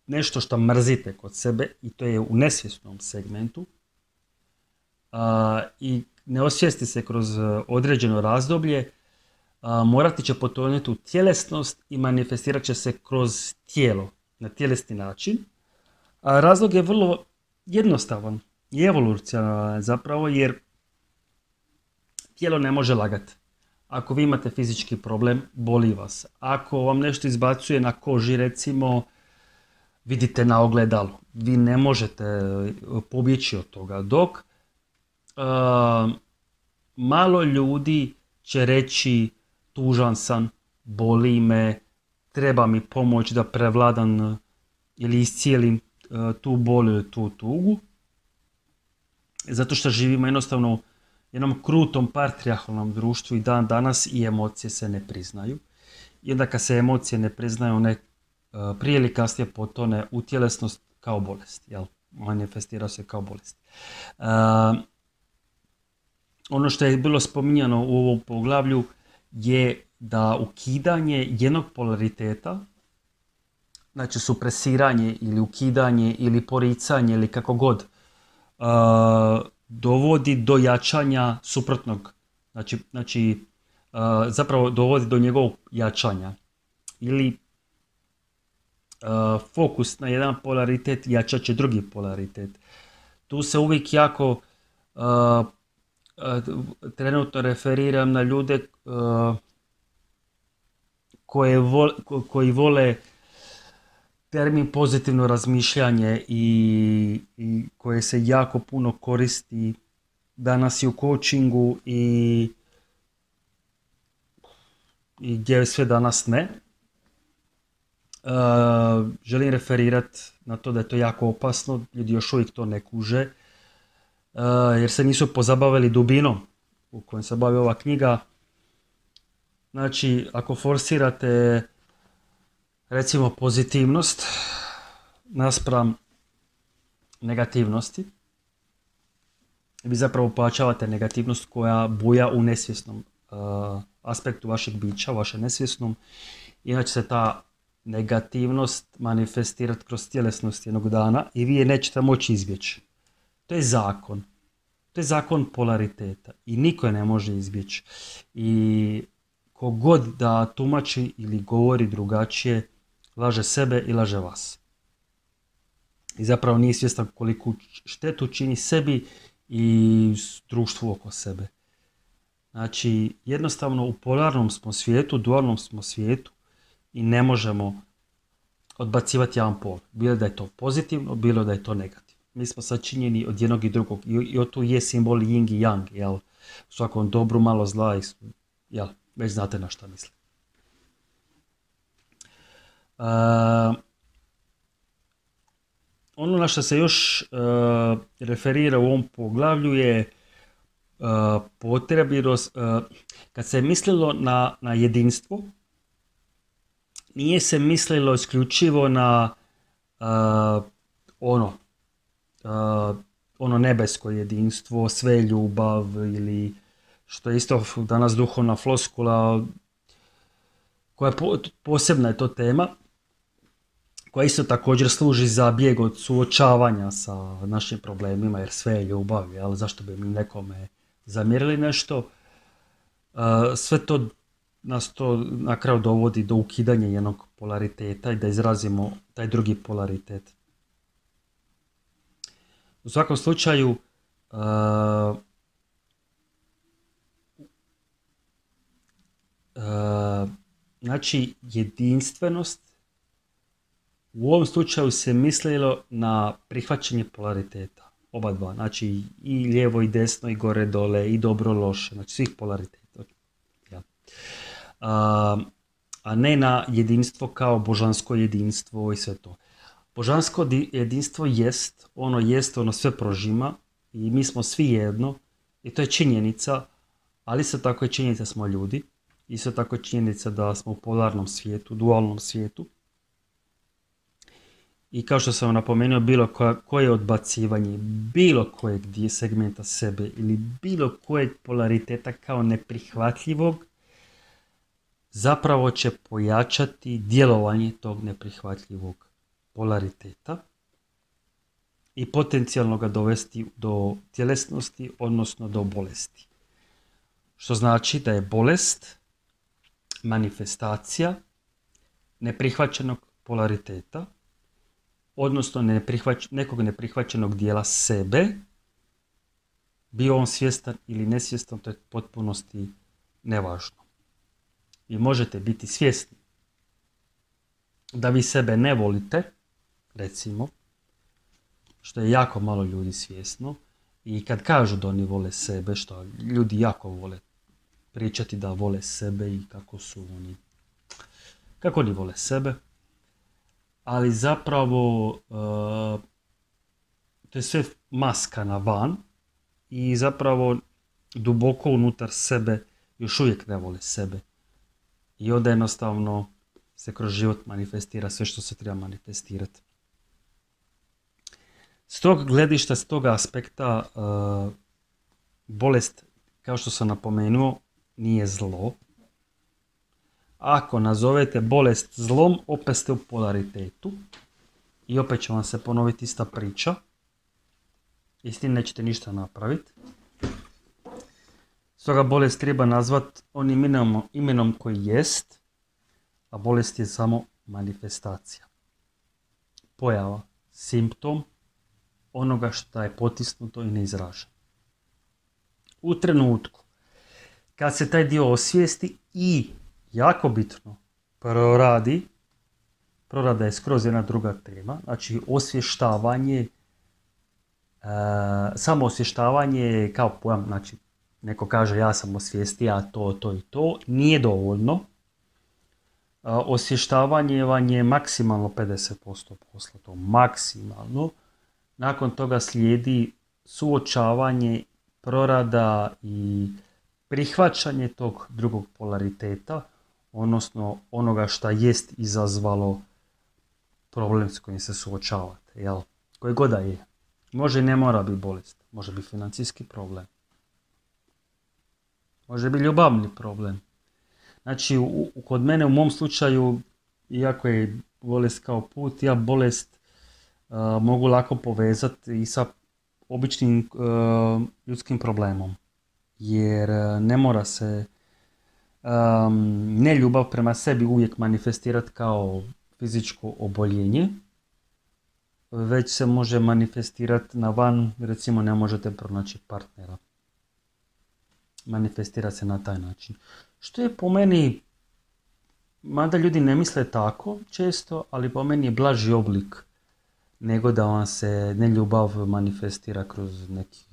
nešto što mrzite kod sebe, i to je u nesvjesnom segmentu, uh, i ne osvijesti se kroz određeno razdoblje, uh, morati će potonuti u tjelesnost i manifestirat će se kroz tijelo, na tjelesni način. A razlog je vrlo jednostavan i evolucionalan zapravo, jer tijelo ne može lagati. Ako vi imate fizički problem, boli vas. Ako vam nešto izbacuje na koži, recimo, vidite na ogledalu. Vi ne možete pobjeći od toga. Dok uh, malo ljudi će reći tužan sam, boli me, treba mi pomoć da prevladam ili iscijelim uh, tu bol ili tu tugu. Zato što živimo jednostavno jednom krutom patrijarhalnom društvu i dan danas i emocije se ne priznaju. I onda kad se emocije ne priznaju, one uh, prije ili kasnije potone u tjelesnost kao bolest. Jel? Manifestira se kao bolest. Uh, ono što je bilo spominjano u ovom poglavlju je da ukidanje jednog polariteta, znači supresiranje ili ukidanje ili poricanje ili kako god, uh, dovodi do jačanja suprotnog, znači, znači uh, zapravo dovodi do njegovog jačanja. Ili uh, fokus na jedan polaritet jačat će drugi polaritet. Tu se uvijek jako uh, uh, trenutno referiram na ljude uh, koje vo, ko, koji vole termin pozitivno razmišljanje i, i koje se jako puno koristi danas i u coachingu i i gdje sve danas ne. Uh, želim referirati na to da je to jako opasno, ljudi još uvijek to ne kuže, uh, jer se nisu pozabavili dubinom u kojoj se bavi ova knjiga. Znači, ako forsirate recimo pozitivnost naspram negativnosti, vi zapravo pojačavate negativnost koja buja u nesvjesnom uh, aspektu vašeg bića, vašem nesvjesnom, inače se ta negativnost manifestirati kroz tjelesnost jednog dana i vi je nećete moći izbjeći. To je zakon. To je zakon polariteta i niko je ne može izbjeći. I kogod da tumači ili govori drugačije, laže sebe i laže vas. I zapravo nije svjestan koliku štetu čini sebi i društvu oko sebe. Znači, jednostavno u polarnom smo svijetu, dualnom smo svijetu i ne možemo odbacivati jedan pol. Bilo da je to pozitivno, bilo da je to negativno. Mi smo sačinjeni od jednog i drugog. I, i tu je simbol yin i yang. Jel? U svakom dobru malo zla. I, jel? Već znate na šta mislim. Uh, ono na što se još uh, referira u ovom poglavlju je uh, potrebirost. Uh, kad se je mislilo na, na jedinstvo, nije se mislilo isključivo na uh, ono, uh, ono nebesko jedinstvo, sve ljubav ili što je isto danas duhovna floskula koja je po, posebna je to tema, koja isto također služi za bijeg od suočavanja sa našim problemima, jer sve je ljubav, jel? Zašto bi mi nekome zamjerili nešto? Uh, sve to nas to na kraju dovodi do ukidanja jednog polariteta i da izrazimo taj drugi polaritet. U svakom slučaju, uh, uh, znači jedinstvenost, u ovom slučaju se mislilo na prihvaćanje polariteta, oba dva, znači i lijevo i desno i gore dole i dobro loše, znači svih polariteta. Ja. A, a ne na jedinstvo kao božansko jedinstvo i sve to. Božansko jedinstvo jest, ono jest, ono sve prožima i mi smo svi jedno i to je činjenica, ali isto tako je činjenica smo ljudi, isto tako je činjenica da smo u polarnom svijetu, dualnom svijetu. I kao što sam vam napomenuo, bilo koje odbacivanje, bilo kojeg segmenta sebe ili bilo kojeg polariteta kao neprihvatljivog, zapravo će pojačati djelovanje tog neprihvatljivog polariteta i potencijalno ga dovesti do tjelesnosti, odnosno do bolesti. Što znači da je bolest manifestacija neprihvaćenog polariteta, odnosno neprihvać, nekog neprihvaćenog dijela sebe, bio on svjestan ili nesvjestan, to je potpunosti nevažno. Vi možete biti svjesni da vi sebe ne volite, recimo, što je jako malo ljudi svjesno, i kad kažu da oni vole sebe, što ljudi jako vole pričati da vole sebe i kako su oni, kako oni vole sebe, ali zapravo uh, to je sve maska na van i zapravo duboko unutar sebe još uvijek ne vole sebe. I onda jednostavno se kroz život manifestira sve što se treba manifestirati. S tog gledišta, s tog aspekta, uh, bolest, kao što sam napomenuo, nije zlo. Ako nazovete bolest zlom, opet ste u polaritetu i opet će vam se ponoviti ista priča i s tim nećete ništa napraviti. Stoga bolest treba nazvati onim imenom, imenom koji jest, a bolest je samo manifestacija. Pojava, simptom onoga što je potisnuto i neizraženo. U trenutku kad se taj dio osvijesti i, jako bitno, proradi, prorada je skroz jedna druga tema, znači osvještavanje, e, samo osvještavanje kao pojam, znači neko kaže ja sam osvijestio to, to i to, nije dovoljno, osvještavanje vam je maksimalno pedeset posto posla, to maksimalno. Nakon toga slijedi suočavanje, prorada i prihvaćanje tog drugog polariteta, odnosno onoga šta jest izazvalo problem s kojim se suočavate, jel? Koji god da je. Može i ne mora biti bolest, može biti financijski problem, može biti ljubavni problem. Znači, u, kod mene u mom slučaju, iako je bolest kao put, ja bolest uh, mogu lako povezati i sa običnim uh, ljudskim problemom. Jer uh, ne mora se um, neljubav prema sebi uvijek manifestirati kao fizičko oboljenje, već se može manifestirati na van, recimo ne možete pronaći partnera. Manifestira se na taj način. Što je po meni, mada ljudi ne misle tako često, ali po meni je blaži oblik nego da vam se neljubav manifestira kroz neki,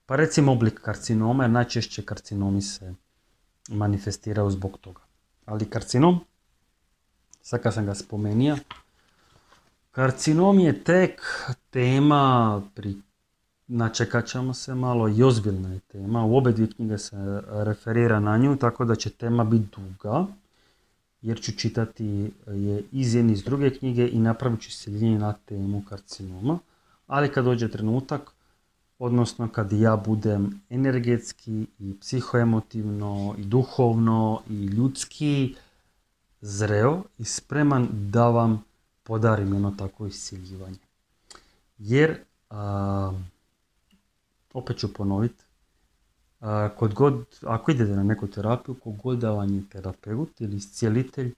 pa recimo oblik karcinoma, jer najčešće karcinomi se manifestiraju zbog toga. Ali karcinom, sad kad sam ga spomenio, karcinom je tek tema, pri, načekat ćemo se malo, i ozbiljna je tema. U obe dvije knjige se referira na nju, tako da će tema biti duga, jer ću čitati je iz jedne iz druge knjige i napravit ću seljenje na temu karcinoma. Ali kad dođe trenutak, odnosno kad ja budem energetski i psihoemotivno i duhovno i ljudski zreo i spreman da vam podarim jedno takvo iscijeljivanje. Jer, a, opet ću ponoviti, a, kod god, ako idete na neku terapiju, kogod da vam je terapeut ili iscijelitelj,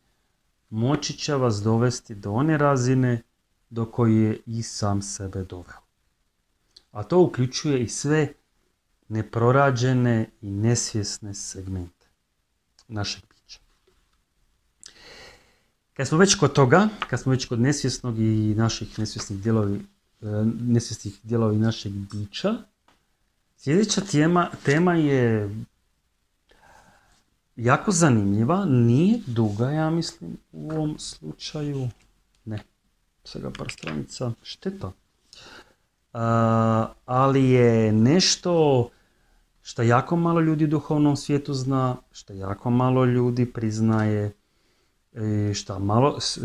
moći će vas dovesti do one razine do koje je i sam sebe doveo. A to uključuje i sve neprorađene i nesvjesne segmente našeg bića. Kad smo već kod toga, kad smo već kod nesvjesnog i naših nesvjesnih dijelovi, nesvjesnih dijelovi našeg bića, sljedeća tema, tema je jako zanimljiva, nije duga, ja mislim, u ovom slučaju, ne, svega par stranica, šteta. Uh, ali je nešto što jako malo ljudi u duhovnom svijetu zna, što jako malo ljudi priznaje, što malo, s,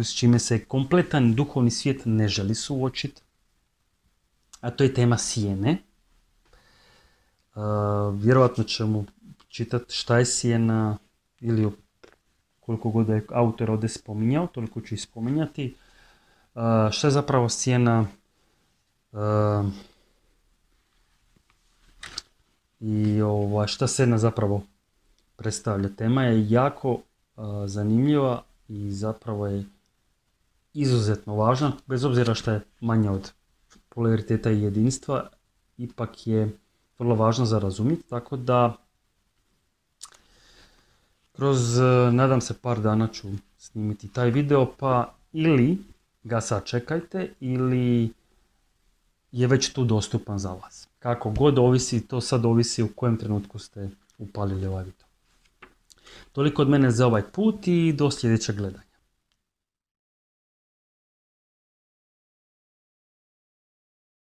s čime se kompletan duhovni svijet ne želi suočiti, a to je tema sjene. Uh, vjerojatno ćemo čitati šta je sjena, ili koliko god je autor ovdje spominjao, toliko ću i spominjati. Uh, šta je zapravo sjena uh, i ova, šta sjena zapravo predstavlja. Tema je jako uh, zanimljiva i zapravo je izuzetno važna, bez obzira što je manja od polariteta i jedinstva, ipak je vrlo važno za razumjeti, tako da kroz, nadam se, par dana ću snimiti taj video, pa ili ga sačekajte ili je već tu dostupan za vas. Kako god ovisi, to sad ovisi u kojem trenutku ste upalili ovaj video. Toliko od mene za ovaj put i do sljedećeg gledanja.